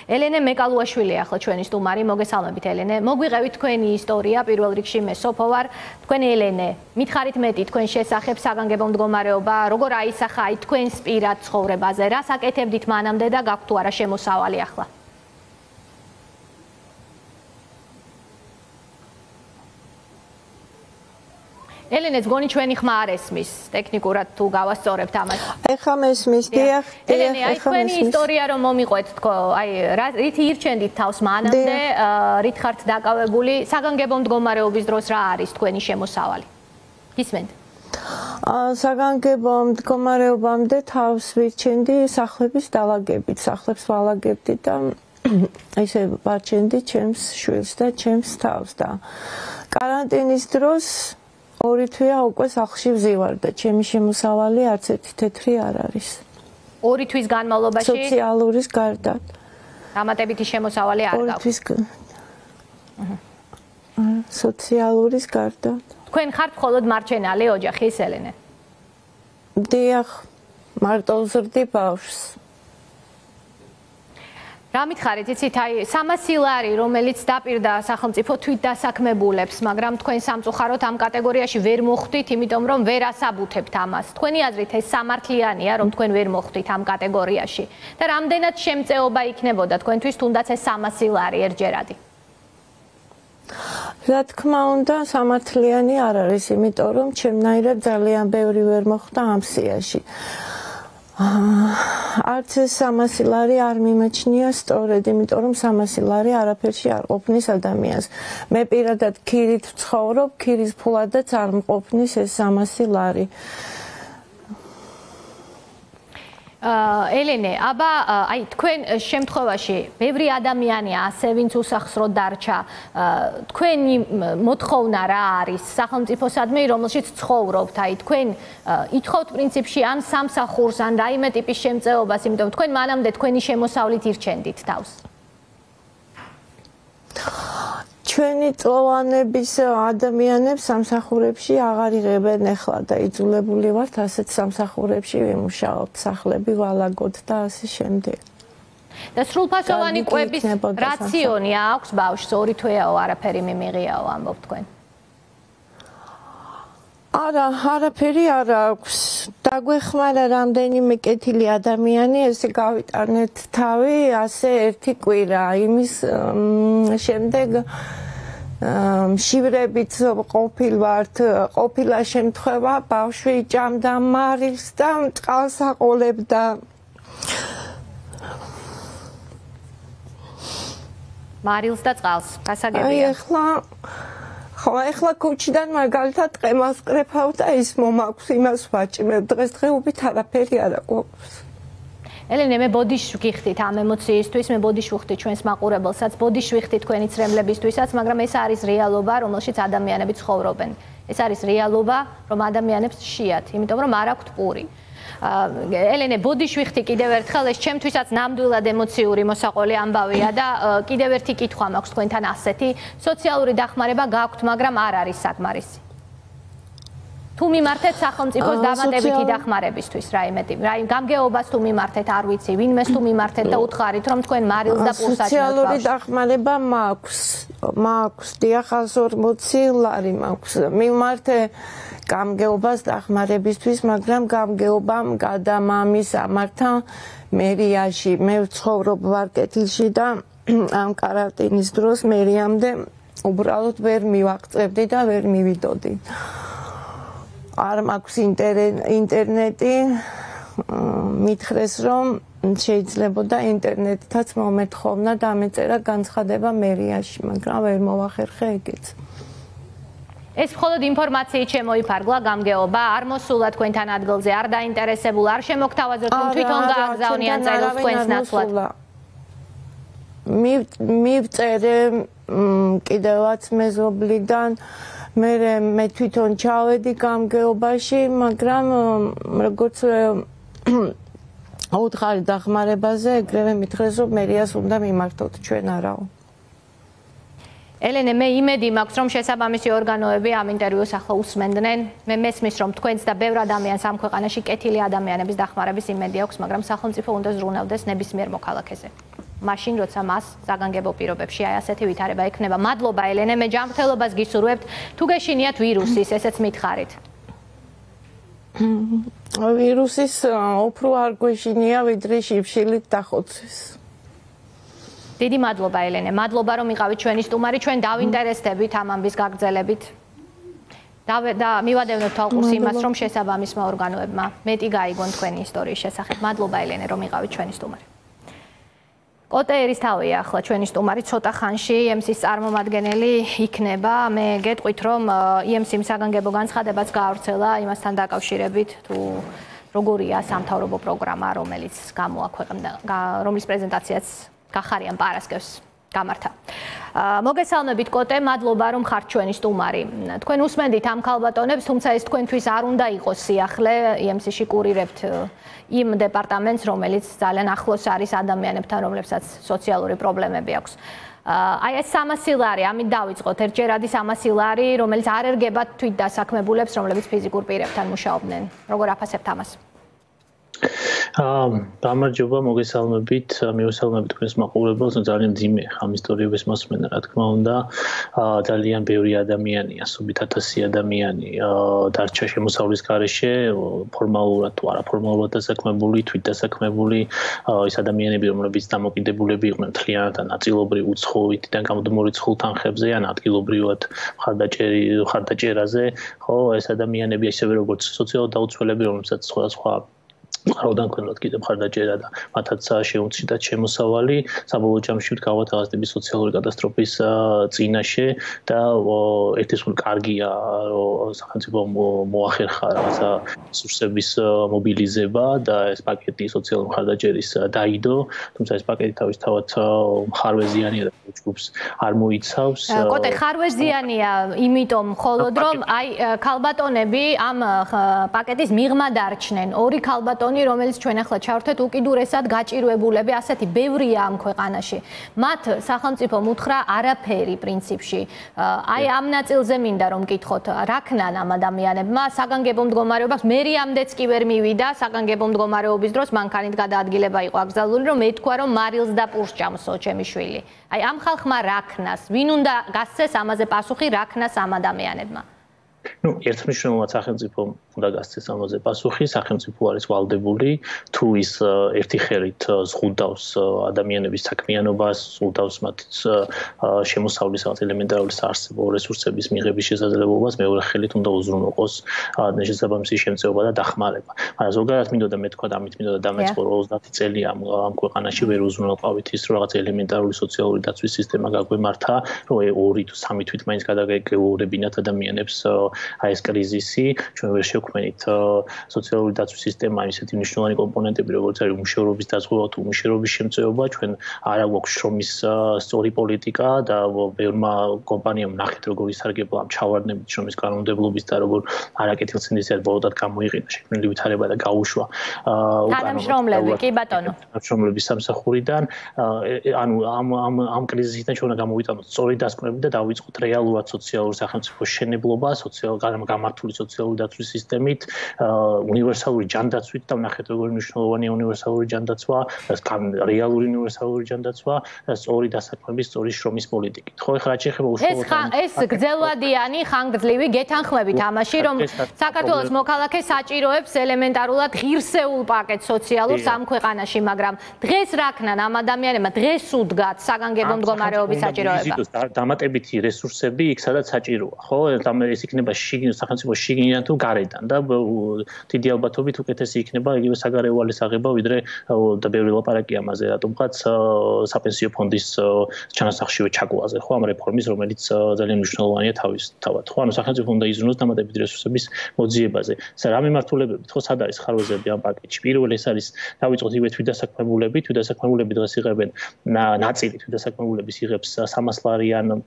ელენე მეკალუაშვილი ახლა ჩვენი სტუმარი, მოგესალმებით ელენე. მოგვიყევით თქვენი ისტორია, პირველ რიგში მე სოფო ვარ. თქვენ ელენე, მითხარით მეტი თქვენ შესახებ საგანგებო მდგომარეობა, როგორ აისახა აი თქვენს პირად ცხოვრებაზე, რას აკეთებდით მანამდე და გაქვთ თუ არა შემოსავალი ახლა? ელენეც გონი ჩვენი ხმა არ ესმის, ტექნიკურად თუ გავასწორებთ ამას. ეხლა მესმის, დიახ. ელენე, აი თქვენი ისტორია რომ მომიყვეთ თქო, აი რით ირჩენდით თავს მანამდე, რით ხართ დაკავებული, საგანგებო მდგომარეობის დროს რა არის თქვენი შემოსავალი? გისმენთ? საგანგებო მდგომარეობამდე თავს ვირჩენდი სახლების დალაგებით, სახლებს ვალაგებდი და ესე ვარჩენდი ჩემს შვილს და ჩემს თავს და კარანტინის დროს ორი თვეა უკვე სახლში ვზივარ და ჩემი შემოსავალი არც ერთი თეთრი არ არის. ორი თვის განმავლობაში სოციალურის გარდა. დამატებითი შემოსავალი არ გაქვთ. ორი თვის სოციალურის გარდა. თქვენ ხართ მხოლოდ მარჩენალი ოჯახის ელენე? დიახ, მარტო ვზრდი ბავშვს. რა მითხარით, იცით, აი სამასი ლარი, რომელიც დაპირდა სახელმწიფო თვითდასაქმებულებს, მაგრამ თქვენ სამწუხაროდ ამ კატეგორიაში ვერ მოხვდით, იმიტომ რომ ვერ ასაბუთებთ ამას. თქვენი აზრით ეს სამართლიანია, რომ თქვენ ვერ მოხვდით ამ კატეგორიაში და რამდენად შემწეობა იქნებოდა თქვენთვის თუნდაც ეს სამასი ლარი ერთჯერადი? რა თქმა უნდა, სამართლიანი არ არის, იმიტომ რომ ჩემნაირად ძალიან ბევრი ვერ მოხვდა ამ სიაში. არც ეს სამასი ლარი არ მიმაჩნია სწორედ, იმიტომ რომ სამასი ლარი არაფერში არ ყოფნის ადამიანს. მე პირადად ქირით ვცხოვრობ, ქირის ფულადაც არ მყოფნის ეს სამასი ლარი. ელენე, აბა აი თქვენ შემთხვევაში ბევრი ადამიანია ასე ვინც უსახსროდ დარჩა. თქვენი მოთხოვნა რა არის სახელმწიფოსადმი, რომელშიც ცხოვრობთ? აი თქვენ ითხოვთ პრინციპში ან სამსახურს, ან რაიმე ტიპის შემწეობას, იმიტომ თქვენ მანამდე თქვენი შემოსავლით ირჩენდით თავს. ჩვენი წლოვანების ადამიანებს სამსახურებში აღარ იღებენ ახლა და იძულებული ვართ ასეთ სამსახურებში ვიმუშაოთ, სახლები ვალაგოთ და ასე შემდეგ. და სრულფასოვანი კვების რაციონი აქვს ბავშვს, ორი თვეაო, არაფერი მიმიღიაო, ამბობ თქვენ? არა, არაფერი არ აქვს. დაგვეხმარა რამდენიმე კეთილი ადამიანი, ესე გავიტანეთ თავი, ასე ერთი კვირა. იმის შემდეგ მშივრებით ყოფილვართ, ყოფილა შემთხვევა, ბავშვი ჭამდა მარილს და წყალს აყოლებდა. მარილს და წყალს, გასაგებია. აი ახლა ხო, ახლა ქუჩიდან მაგალითად ყემას კრეფავ და ის მომაქვს, იმას ვაჭიმებ. დღესდღეობით არაფერი არ აქვს. ელენე, მე ბოდიშს ვგიხდით ამ ემოციისთვის, მე ბოდიშს ვუხდით ჩვენს მაყურებელსაც, ბოდიშს ვიხდით თქვენი ცრემლებისთვისაც, მაგრამ ეს არის რეალობა, რომელშიც ადამიანები ცხოვრობენ. ეს არის რეალობა, რომ ადამიანებს შეათ, იმიტომ რომ არ აქვთ პური. ელენე, ბოდიშს ვიხდი კიდევ ერთხელ, ეს ჩემთვისაც ნამდვილად ემოციური მოსაყოლე ამბავია და კიდევ ერთი კითხვა მაქვს თქვენთან ასეთი, სოციალური დახმარება გაქვთ, მაგრამ არ არის საკმარისი. თუ მიმართეთ სახელმწიფოს დამატებითი დახმარებისთვის რაიმე ტიპი, რაიმე გამგეობას თუ მიმართეთ, არ ვიცი, ვინმეს თუ მიმართეთ და უთხარით, რომ თქვენ მარილს და პულს აჭმევთ. სოციალური დახმარება მაქვს, მაქვს, დიახ, ას ორმოცი ლარი მაქვს. მიმართე გამგეობას დახმარებისთვის, მაგრამ გამგეობამ გადამამის ამართა მერიაში. მე ვცხოვრობ ვარკეთილში და ამ каранტინის დროს მერიამდე უბრალოდ ვერ მივაღწევდი და ვერ მივიდოდი. არ მაქვს ინტერნეტი, მითხრეს რომ შეიძლებოდა ინტერნეტითაც მომეთხოვნა დამეწერა განცხადება მერიაში, მაგრამ ვერ მოვახერხე ეგეც. ეს მხოლოდ ინფორმაციით შემოიფარგლა გამგეობა, არ მოსულა თქვენთან ადგილზე, არ დაინტერესებულ, არ შემოგთავაზებთ, რომ თვითონ გააგზავნიან წერილს თქვენს ნაცვლად. მივწერე კიდევაც მეზობლიდან, მე მე თვითონ ჩავედი გამგეობაში, მაგრამ როგორც აუთხარი დახმარებაზე ეგრევე მითხრეს, რომ მერიას უნდა მიმართოთ, ჩვენ არაო. ელენე, მე იმედი მაქვს, რომ შესაბამისი ორგანოები ამ ინტერვიუს ახლა უსმენდნენ. მე მესმის, რომ თქვენც და ბევრ ადამიანს ამ ქვეყანაში კეთილი ადამიანების დახმარების იმედი აქვს, მაგრამ სახელმწიფო უნდა ზრუნავდეს ნებისმიერ მოქალაქეზე. მაშინ, როცა მას საგანგებო პირობებში აი ასეთი ვითარება ექნება. მადლობა ელენე, მე ჯანმრთელობას გისურვებთ. თუ გეშინიათ ვირუსის, ესეც მითხარით. ვირუსის უფრო არ გვეშინია, ვიდრე შიფშილით დახოცვის. დიდი მადლობა ელენე, მადლობა რომ იყავით ჩვენი სტუმარი, ჩვენ დავინტერესდებით ამ ამბის გაგრძელებით. და მივადევნოთ თვალყურს იმას, რომ შესაბამისმა ორგანოებმა მეტი გაიგონ თქვენი ისტორიის შესახებ. მადლობა ელენე, რომ იყავით ჩვენი სტუმარი. კოტე ერისთავია ახლა ჩვენი სტუმარი, ცოტა ხანში ი ემ სის წარმომადგენელი იქნება. მე გეტყვით, რომ ი ემ სი-მ საგანგებო განცხადებაც გაავრცელა იმასთან დაკავშირებით, თუ როგორია სამთავრობო პროგრამა, რომელიც გამოაქვეყნა, რომლის პრეზენტაციაც გახარიან პარასკევს გამართა. მოგესალმებით კოტე, მადლობა რომ ხართ ჩვენი სტუმარი. თქვენ უსმენდით ამ ქალბატონებს, თუმცა ეს თქვენთვის არ უნდა იყოს სიახლე, ი ემ სი-ში კურირებთ იმ დეპარტამენტს, რომელიც ძალიან ახლოს არის ადამიანებთან, რომლებსაც სოციალური პრობლემები აქვს. აი ეს სამასილარი, ამით დავიწყოთ, ერთჯერადი სამასილარი, რომელიც არ ერგება თვით დასაქმებულებს, რომლებიც ფიზიკურ პირებთან მუშაობდნენ. როგორ აფასებთ ამას? გამარჯობა, მოგესალმებით, მივესალმებით თქვენს მაყურებელს, ძალიან ძიმე ამ ისტორიების მოსმენა, რა თქმა უნდა, ძალიან ბევრი ადამიანია, ასობით ათასი ადამიანი დარჩა შემოსავლის გარეშე, ფორმალურად თუ არაფორმალურად დასაქმებული, თვით დასაქმებული, ის ადამიანები, რომლებიც დამოკიდებულები იყვნენ მთლიანად ან ნაწილობრივ უცხოეთიდან გამომდინარე ცხულ თანხებზე ან ადგილობრივად მხარდაჭერი მხარდაჭერაზე, ხო, ეს ადამიანები ისევე როგორც სოციალურ დაუცველები, რომლებსაც სხვადასხვა ხაროდან ქონდათ კიდევ მხარდაჭერა და მათაც შეუცდათ შემოსავალი, საბოლოო ჯამში გავათავაზდები სოციალური კატასტროფის წინაშე და ერთი სულ კარგია, რომ სახელმწიფო მოახერხა რაღაცა რესურსების მობილიზება და ეს პაკეტი სოციალური მხარდაჭერის დაიდო, თუმცა ეს პაკეტი თავისთავად მხარვეზიანია და ჯგუფს არ მოიცავს. კოტე, ხარვეზიანია, იმიტომ მხოლოდ რომ აი ქალბატონები ამ პაკეტის მიღმა დარჩნენ. ორი ქალბატონი რომელიც ჩვენ ახლა ჩავერთეთ უკიდურესად გაჭირვებულები, ასეთი ბევრია ამ ქვეყანაში. მათ სახელმწიფომ უთხრა არაფერი პრინციპში. აი ამ ნაწილზე მინდა რომ მკითხოთ, რა ქნან ამ ადამიანებმა საგანგებო მდგომარეობას, მერიამდეც კი ვერ მივიდა საგანგებო მდგომარეობის დროს, მანქანით გადაადგილება იყო აკრძალული, რომ ეთქვა რომ მარილს და პურს ჭამსო ჩემი შვილი. აი ამ ხალხმა რა ქნას? ვინ უნდა გასცეს ამაზე პასუხი, რა ქნას ამ ადამიანებმა? ну, ერთმნიშვნელოვნად სახელმწიფო უნდა გასცეს ამაზე პასუხი, სახელმწიფო არის ვალდებული, თუ ის ერთი ხელით ზღუდავს ადამიანების საქმიანობას, ზღუდავს მათ შემოსავლის ელემენტარული საარსებო რესურსების მიღების შესაძლებლობას, მეორე ხელით უნდა უზრუნველყოს შესაბამისი შემწეობა და დახმარება. მაგრამ ზოგადად მინდოდა მეთქვა და ამით მინდოდა დამეწყო ოცდაათი წელი ამ ამ ქვეყანაში ვერ უზრუნველყავით ის, რომ რაღაც ელემენტარული სოციალური დაცვის სისტემა გაგვემართა, რომ ორი თუ სამი თვით მაინც გადაგეგეურებინათ ადამიანებს აი ეს კრიზისი, ჩვენ ვერ შევქმნით სოციალური დაცვის სისტემა, ისეთი მნიშვნელოვანი კომპონენტები, როგორც არის უმუშევრობის დაზღვევა თუ უმუშევრობის შემწეობა, ჩვენ არ აქვს შრომის სწორი პოლიტიკა და ბევრმა კომპანიამ ნახეთ, როგორ ისარგებლა ამ ჩავარდნებით შრომის კანონმდებლობის და როგორ არაკეთილცინდისად ბოლოდად გამოიყენა შექმნილი ვითარება და გაუშვა თანამშრომლები, კი ბატონო. თანამშრომლების სამსახურიდან, ანუ ამ ამ ამ კრიზისიდან ჩვენ უნდა გამოვიტანოთ სწორი დასკვნები და დავიწყოთ რეალურად სოციალური სახელმწიფოს შენებლობა, სოციალურ გამართული სოციალური დაცვის სისტემა სისტემით, უნივერსალური ჯანდაცვით და ვნახეთ როგორი მნიშვნელოვანია უნივერსალური ჯანდაცვა, რეალური უნივერსალური ჯანდაცვა და სწორი დასაქმების, სწორი შრომის პოლიტიკით. ხო, ეხლა რაც შეეხება უშუალოდ ეს გრძელვადიანი ხანგრძლივი გეთანხმებით ამაში, რომ საქართველოს მოქალაქე საჭიროებს ელემენტარულად ღირსეულ პაკეტს სოციალურს ამ ქვეყანაში, მაგრამ დღეს რა ქნან ამ ადამიანებმა, დღეს უდგათ საგანგებო მდგომარეობის საჭიროება. დამატებითი რესურსები იქ სადაც საჭიროა, ხო? ეს იქნება შიგნით სახელმწიფო შიგნიდან თუ გარედან და დიდი ალბათობით უკეთესი იქნება იგივე საგარეო ვალის აღება, ვიდრე და ბევრი ლაპარაკია ამაზე, რატომღაც საპენსიო ფონდის ჩანასახშივე ჩაგვაზე, ხო, ამ რეფორმის, რომელიც ძალიან მნიშვნელოვანია თავისთავად, ხო? ანუ სახელმწიფო უნდა იზრუნოს დამატებითი რესურსების მოძიებაზე. რა მიმართულებებით, ხო, სად არის ხარვეზები ამ პაკეტში? პირველი ეს არის დავიწყოთ იგივე თვითდასაქმებულები, თვითდასაქმებულები დღეს იღებენ ნაწილი თვითდასაქმებულების იღებს სამას ლარიან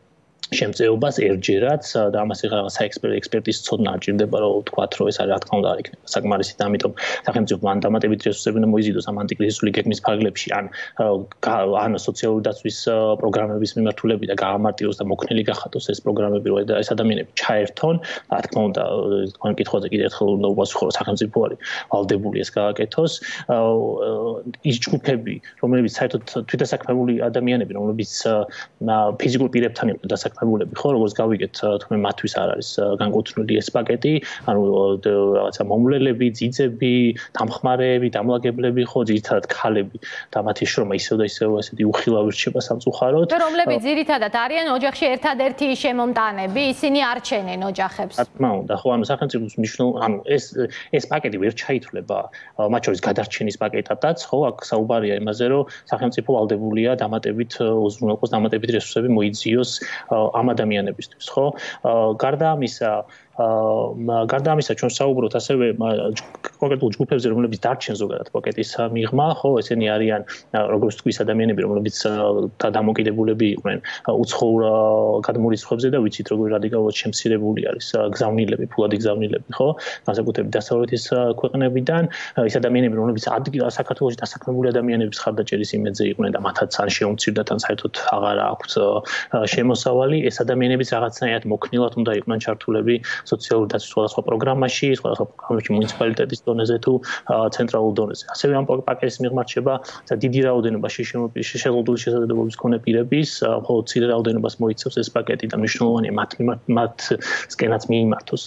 შემწეობას ერთჯერად და ამას ეხლა საექსპერტის ცოდნა არ ჭირდება, რომ ვთქვათ, რომ ეს რა თქმა უნდა არ იქნება საკმარისი და ამიტომ სახელმწიფო მან დამატებით რესურსები უნდა მოიზიდოს ამ ანტიკრიზისული გეგმის ფარგლებში, ან ან სოციალური დაცვის პროგრამების მიმართულებით და გაამარტივოს და მოქნილი გახადოს ეს პროგრამები, რომ ეს ადამიანები ჩაერთონ, რა თქმა უნდა, თქვენ კითხვაზე კიდევ ერთხელ უნდა უპასუხო, რომ სახელმწიფო არის ვალდებული ეს გააკეთოს. ის ჯგუფები, რომლებიც საერთოდ თვითდასაქმებული ადამიანები, რომლებიც ფიზიკურ პირებთან იყვნენ დასაქმებული, ხო, როგორც გავიგეთ, თუმცა მათთვის არ არის განკუთვნილი ეს პაკეტი, ანუ რაღაცა მომვლელები, ძიძები, დამხმარეები, დამლაგებლები, ხო, ძირითადად ქალები და მათი შრომა ისევ და ისევ ასეთი უხილავი რჩება სამწუხაროდ. და რომლებიც ძირითადად არიან ოჯახში ერთადერთი შემომტანები, ისინი არჩენენ ოჯახებს. რა თქმა უნდა, ხო, ანუ სახელმწიფოს მნიშვნელოვანი, ანუ ეს ეს პაკეტი ვერ ჩაითვლება, მათ შორის გადარჩენის პაკეტადაც, ხო, აქ საუბარია იმაზე, რომ სახელმწიფო ვალდებულია დამატებით უზრუნველყოს დამატებით რესურსები მოიძიოს ამ ადამიანებისთვის, ხო? გარდა ამისა, გარდა ამისა ჩვენ საუბრობთ ასევე კონკრეტულ ჯგუფებზე, რომლებიც დარჩენ ზოგადად პაკეტის მიღმა, ხო, ესენი არიან როგორც თქვი ადამიანები, რომლებიც დამოკიდებულები იყვნენ უცხოურ გადმორიცხვებზე და ვიცით როგორ რადიკალურად შემცირებული არის გზავნილები, ფულადი გზავნილები, ხო? განსაკუთრებით დასავლეთის ქვეყნებიდან, ის ადამიანები, რომლებიც საქართველოში დასაქმებული ადამიანების ხარდაჭერის იმედზე იყვნენ და მათაც ან შეუმცირდათ, ან საერთოდ აღარ აქვთ შემოსავალი, ეს ადამიანებიც რაღაცნაირად მოქნილად უნდა იყვნენ ჩართულები სოციალური დაცვის სხვადასხვა პროგრამაში, სხვადასხვა პროგრამებში მუნიციპალიტეტის დონეზე თუ ცენტრალურ დონეზე. ასევე ამ პაკეტის მიღმა რჩება დიდი რაოდენობა შეშეღებული შესაძლებლობის მქონე პირების, ხოლო მცირე რაოდენობას მოიცავს ეს პაკეტი და მნიშვნელოვანია მათ მათსკენაც მიიმართოს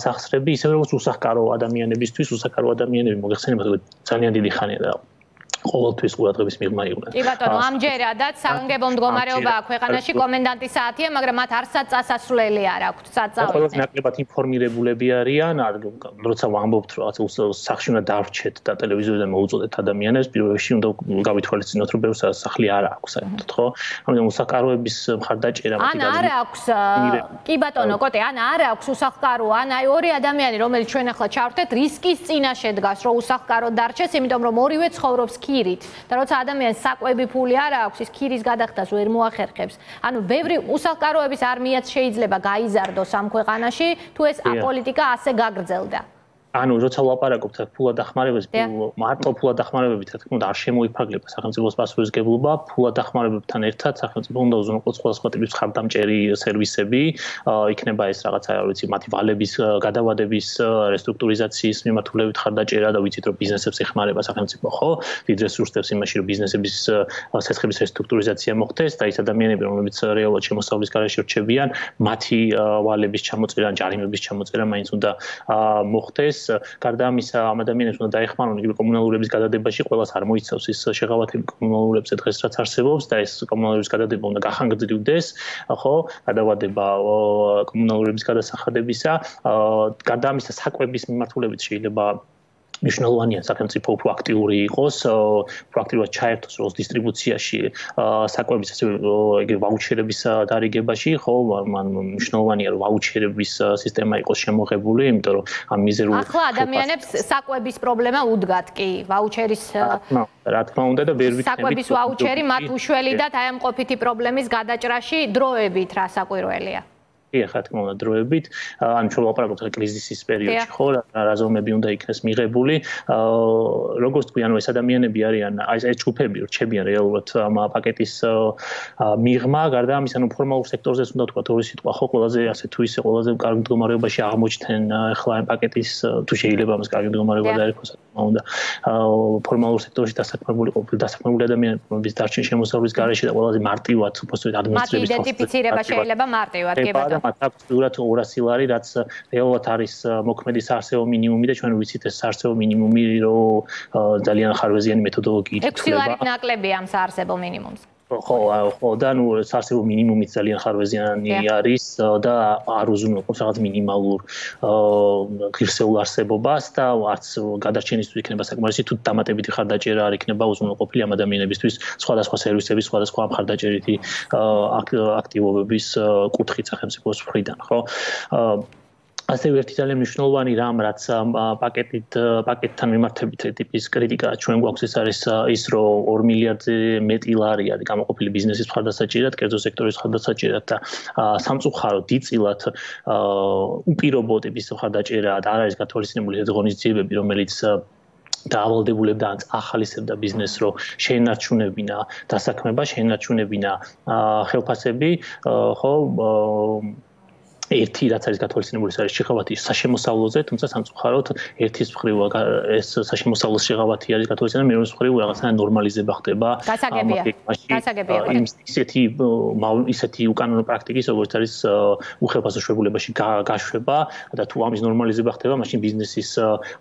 სახსრები, ისევე როგორც უსახკარო ადამიანებისთვის, უსახკარო ადამიანები მოგეხსენებათ, რომ ძალიან დიდი ხანია და ყოველთვის ყურადღების მიღმა იყვნენ. კი ბატონო, ამჯერადაც საგანგებო მდგომარეობაა ქვეყანაში, კომენდანტის საათია, მაგრამ მათ არსად წასასვლელი არ აქვთ, საწავლის. ყველას ნაკლებად ინფორმირებულები არიან, როცა ვამბობთ, რომ სახლში უნდა დავრჩეთ და ტელევიზორიდან მოუწოდეთ ადამიანებს, პირველ რიგში უნდა გავითვალისწინოთ, რომ ბევრს სახლი არ აქვს, საერთოდ, ხო? ამიტომ უსახკაროების მხარდაჭერა ან არ აქვს, კი ბატონო, კოტე, ან არ აქვს უსახკარო, ან აი ორი ადამიანი, რომელიც ჩვენ ახლა ჩავრთეთ, რისკის წინაშე დგას, რომ უსახკარო დარჩეს, იმიტომ რომ ორივე ცხოვრობს ქირით და როცა ადამიანს საკვები ფული არ აქვს, ის ქირის გადახდას ვერ მოახერხებს. ანუ ბევრი უსახკაროების არმიაც შეიძლება გაიზარდოს ამ ქვეყანაში, თუ ეს პოლიტიკა ასე გაგრძელდა. ანუ როცა ვლაპარაკობთ ფულად დახმარებაზე, მარტო ფულად დახმარებებით, რა თქმა უნდა, არ შემოიფარგლება სახელმწიფოს პასუხისმგებლობა, ფულად დახმარებებთან ერთად სახელმწიფო უნდა უზრუნველყოს სხვადასხვა ტიპის ხარდამჭერი სერვისები, იქნება ეს რაღაცა, რა ვიცი, მათი ვალების გადავადების რესტრუქტურიზაციის მიმართულებით ხარდაჭერა და ვიცით, რომ ბიზნესებს ეხმარება სახელმწიფო, ხო? დიდ რესურსებს იმაში, რომ ბიზნესების სესხების რესტრუქტურიზაცია მოხდეს და ის ადამიანები, რომლებიც რეალურად შემოსავლის გარეშე რჩებიან, მათი ვალების ჩამოწერა, ჯარიმების ჩამოწერა მაინც უნდა მოხდეს. გარდა ამისა, ამ ადამიანებს უნდა დაეხმარონ იგივე კომუნალურების გადადებაში, ყველას არ მოიცავს ის შეღავათები კომუნალურებზე დღეს რაც არსებობს და ეს კომუნალურების გადადება უნდა გახანგრძლივდეს, ხო? გადავადება კომუნალურების გადასახადებისა. გარდა ამისა, საკვების მიმართულებით შეიძლება მნიშვნელოვანია სახელმწიფო უფრო აქტიური იყოს, პრაქტიკულად ჩაერთოს როლს დისტრიბუციაში, საკვების ასევე იგივე ვაუჩერების დარიგებაში, ხო, მან მნიშვნელოვანია რომ ვაუჩერების სისტემა იყოს შემოღებული, იმიტომ რომ ამ მიზერულ ახლა ადამიანებს საკვების პრობლემა უდგათ კი, ვაუჩერის რა თქმა უნდა და ვერ ვიქნებით საკვების ვაუჩერი მათ უშველიდათ აი ამ ყოფითი პრობლემის გადაჭრაში დროებით რა საკვირველია. ეხლა თქმა უნდა დროებით, ანუ ჩვენ ვაპარაკობთ კრიზისის პერიოდში, ხო, რა ზომები უნდა იქნეს მიღებული. როგორც თქვი, ანუ ეს ადამიანები არიან, აი ეს ჯგუფები რჩებიან რეალურად ამ პაკეტის მიღმა, გარდა ამისა, ანუ ფორმალურ სექტორზეც უნდა თქვა ორი სიტყვა, ხო, ყველაზე ასე თუ ისე ყველაზე კარგ მდგომარეობაში აღმოჩნდნენ ახლა ამ პაკეტის თუ შეიძლება ამას კარგი მდგომარეობა დაერქვას, თქმა უნდა. ფორმალურ სექტორში დასაქმებული ყოფილი დასაქმებული ადამიანების დარჩენ შემოსავლის გარეშე და ყველაზე მარტივად უბრალოდ ადმინისტრების მათი იდენტიფიცირება შეიძლება მარტივად, კი ბატონო. მათ აქვს უბრალოდ ორასი ლარი, რაც რეალურად არის მოქმედი საარსებო მინიმუმი და ჩვენ ვიცით ეს საარსებო მინიმუმი რომ ძალიან ხარვეზიანი მეთოდოლოგიით ითვლება. ექვსი ლარით ნაკლები ამ საარსებო მინიმუმს. ხო, ხო, და ნუ საარსებო მინიმუმიც ძალიან ხარვეზიანი არის და არ უზრუნველყოფს რაღაც მინიმალურ ღირსეულ არსებობას და არც გადარჩენისთვის იქნება საკმარისი თუ დამატებითი ხარდაჭერა არ იქნება უზრუნველყოფილი ამ ადამიანებისთვის სხვადასხვა სერვისების, სხვადასხვა ხარდაჭერითი აქტივობების კუთხით სახელმწიფოს მხრიდან, ხო? ასევე ერთი ძალიან მნიშვნელოვანი რამ, რაც პაკეტით პაკეტთან მიმართებით ტიპის კრიტიკა ჩვენ გვაქვს, ეს არის ის, რომ ორი მილიარდზე მეტი ლარი არის გამოყოფილი ბიზნესის მხარდასაჭერად, კერძო სექტორის მხარდასაჭერად და სამწუხაროდ დიდწილად უპირობო ტიპის მხარდაჭერა და არ არის გათვალისწინებული ეს ღონისძიებები, რომელიც დაავალდებულებდა ან ახალისებდა ბიზნესს, რომ შეენარჩუნებინა დასაქმება, შეენარჩუნებინა ხელფასები, ხო, ერთი რაც არის გათვალისწინებული ეს არის შეღავათი საშემოსავლოზე, თუმცა სამწუხაროდ ერთის მხრივ ეს სასშემოსავლოს შეღავათი არის გათვალისწინებული, მეორეს მხრივ რაღაცა ნორმალიზება ხდება. გასაგებია. გასაგებია. ისეთი ისეთი უკანონო პრაქტიკის, როგორც არის უხელფასო შვებულებაში გაშვება და თუ ამის ნორმალიზება ხდება, მაშინ ბიზნესის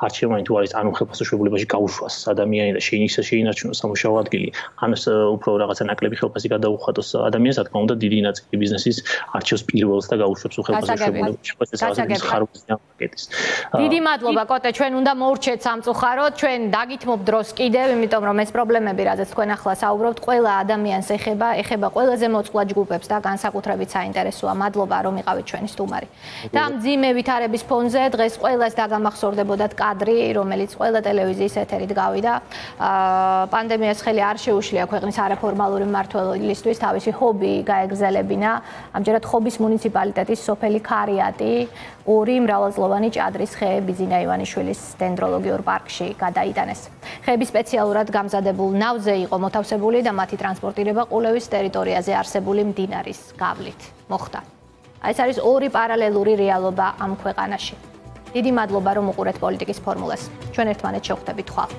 არჩევანი თუ არის ან უხელფასო შვებულებაში გაუშვას ადამიანი და შეინარჩუნოს სამუშაო ადგილი, ან უფრო რაღაცა ნაკლები ხელფასი გადაუხატოს ადამიანს, რა თქმა უნდა, დიდი ნაწილი ბიზნესის არჩევს პირველს და გაუშვებს დიდი მადლობა კოტე, ჩვენ უნდა მოურჩეთ სამწუხაროდ, ჩვენ დაგითმობ დროს კიდევ, იმიტომ რომ ეს პრობლემები, რაზეც თქვენ ახლა საუბრობთ, ყველა ადამიანს ეხება, ეხება ყველაზე მოწყვლად ჯგუფებს და განსაკუთრებით საინტერესოა. მადლობა რომ იყავით ჩვენი სტუმარი. და ამ მძიმე ვითარების ფონზე დღეს ყველას დაგამახსოვრდებოდათ კადრი, რომელიც ყველა ტელევიზიის ეთერით გავიდა. პანდემიას ხელი არ შეუშლია ქვეყნის არაფორმალური მმართველობისთვის თავისი ჰობი გაეგზელებინა. ამჯერად ხობის მუნიციპალიტეტის სოფელი ქარიატი ორი მრავალწლოვანი ჭადრის ხე ბიზინა ივანიშვილის დენდროლოგიურ პარკში გადაიტანეს. ხეები სპეციალურად გამზადებულ ნავზე იყო მოთავსებული და მათი ტრანსპორტირება ყულევის ტერიტორიაზე არსებული მდინარის გავლით მოხდა. ეს არის ორი პარალელური რეალობა ამ ქვეყანაში. დიდი მადლობა რომ უყურეთ პოლიტიკის ფორმულას. ჩვენ ერთმანეთს შევხვდებით ხვალ.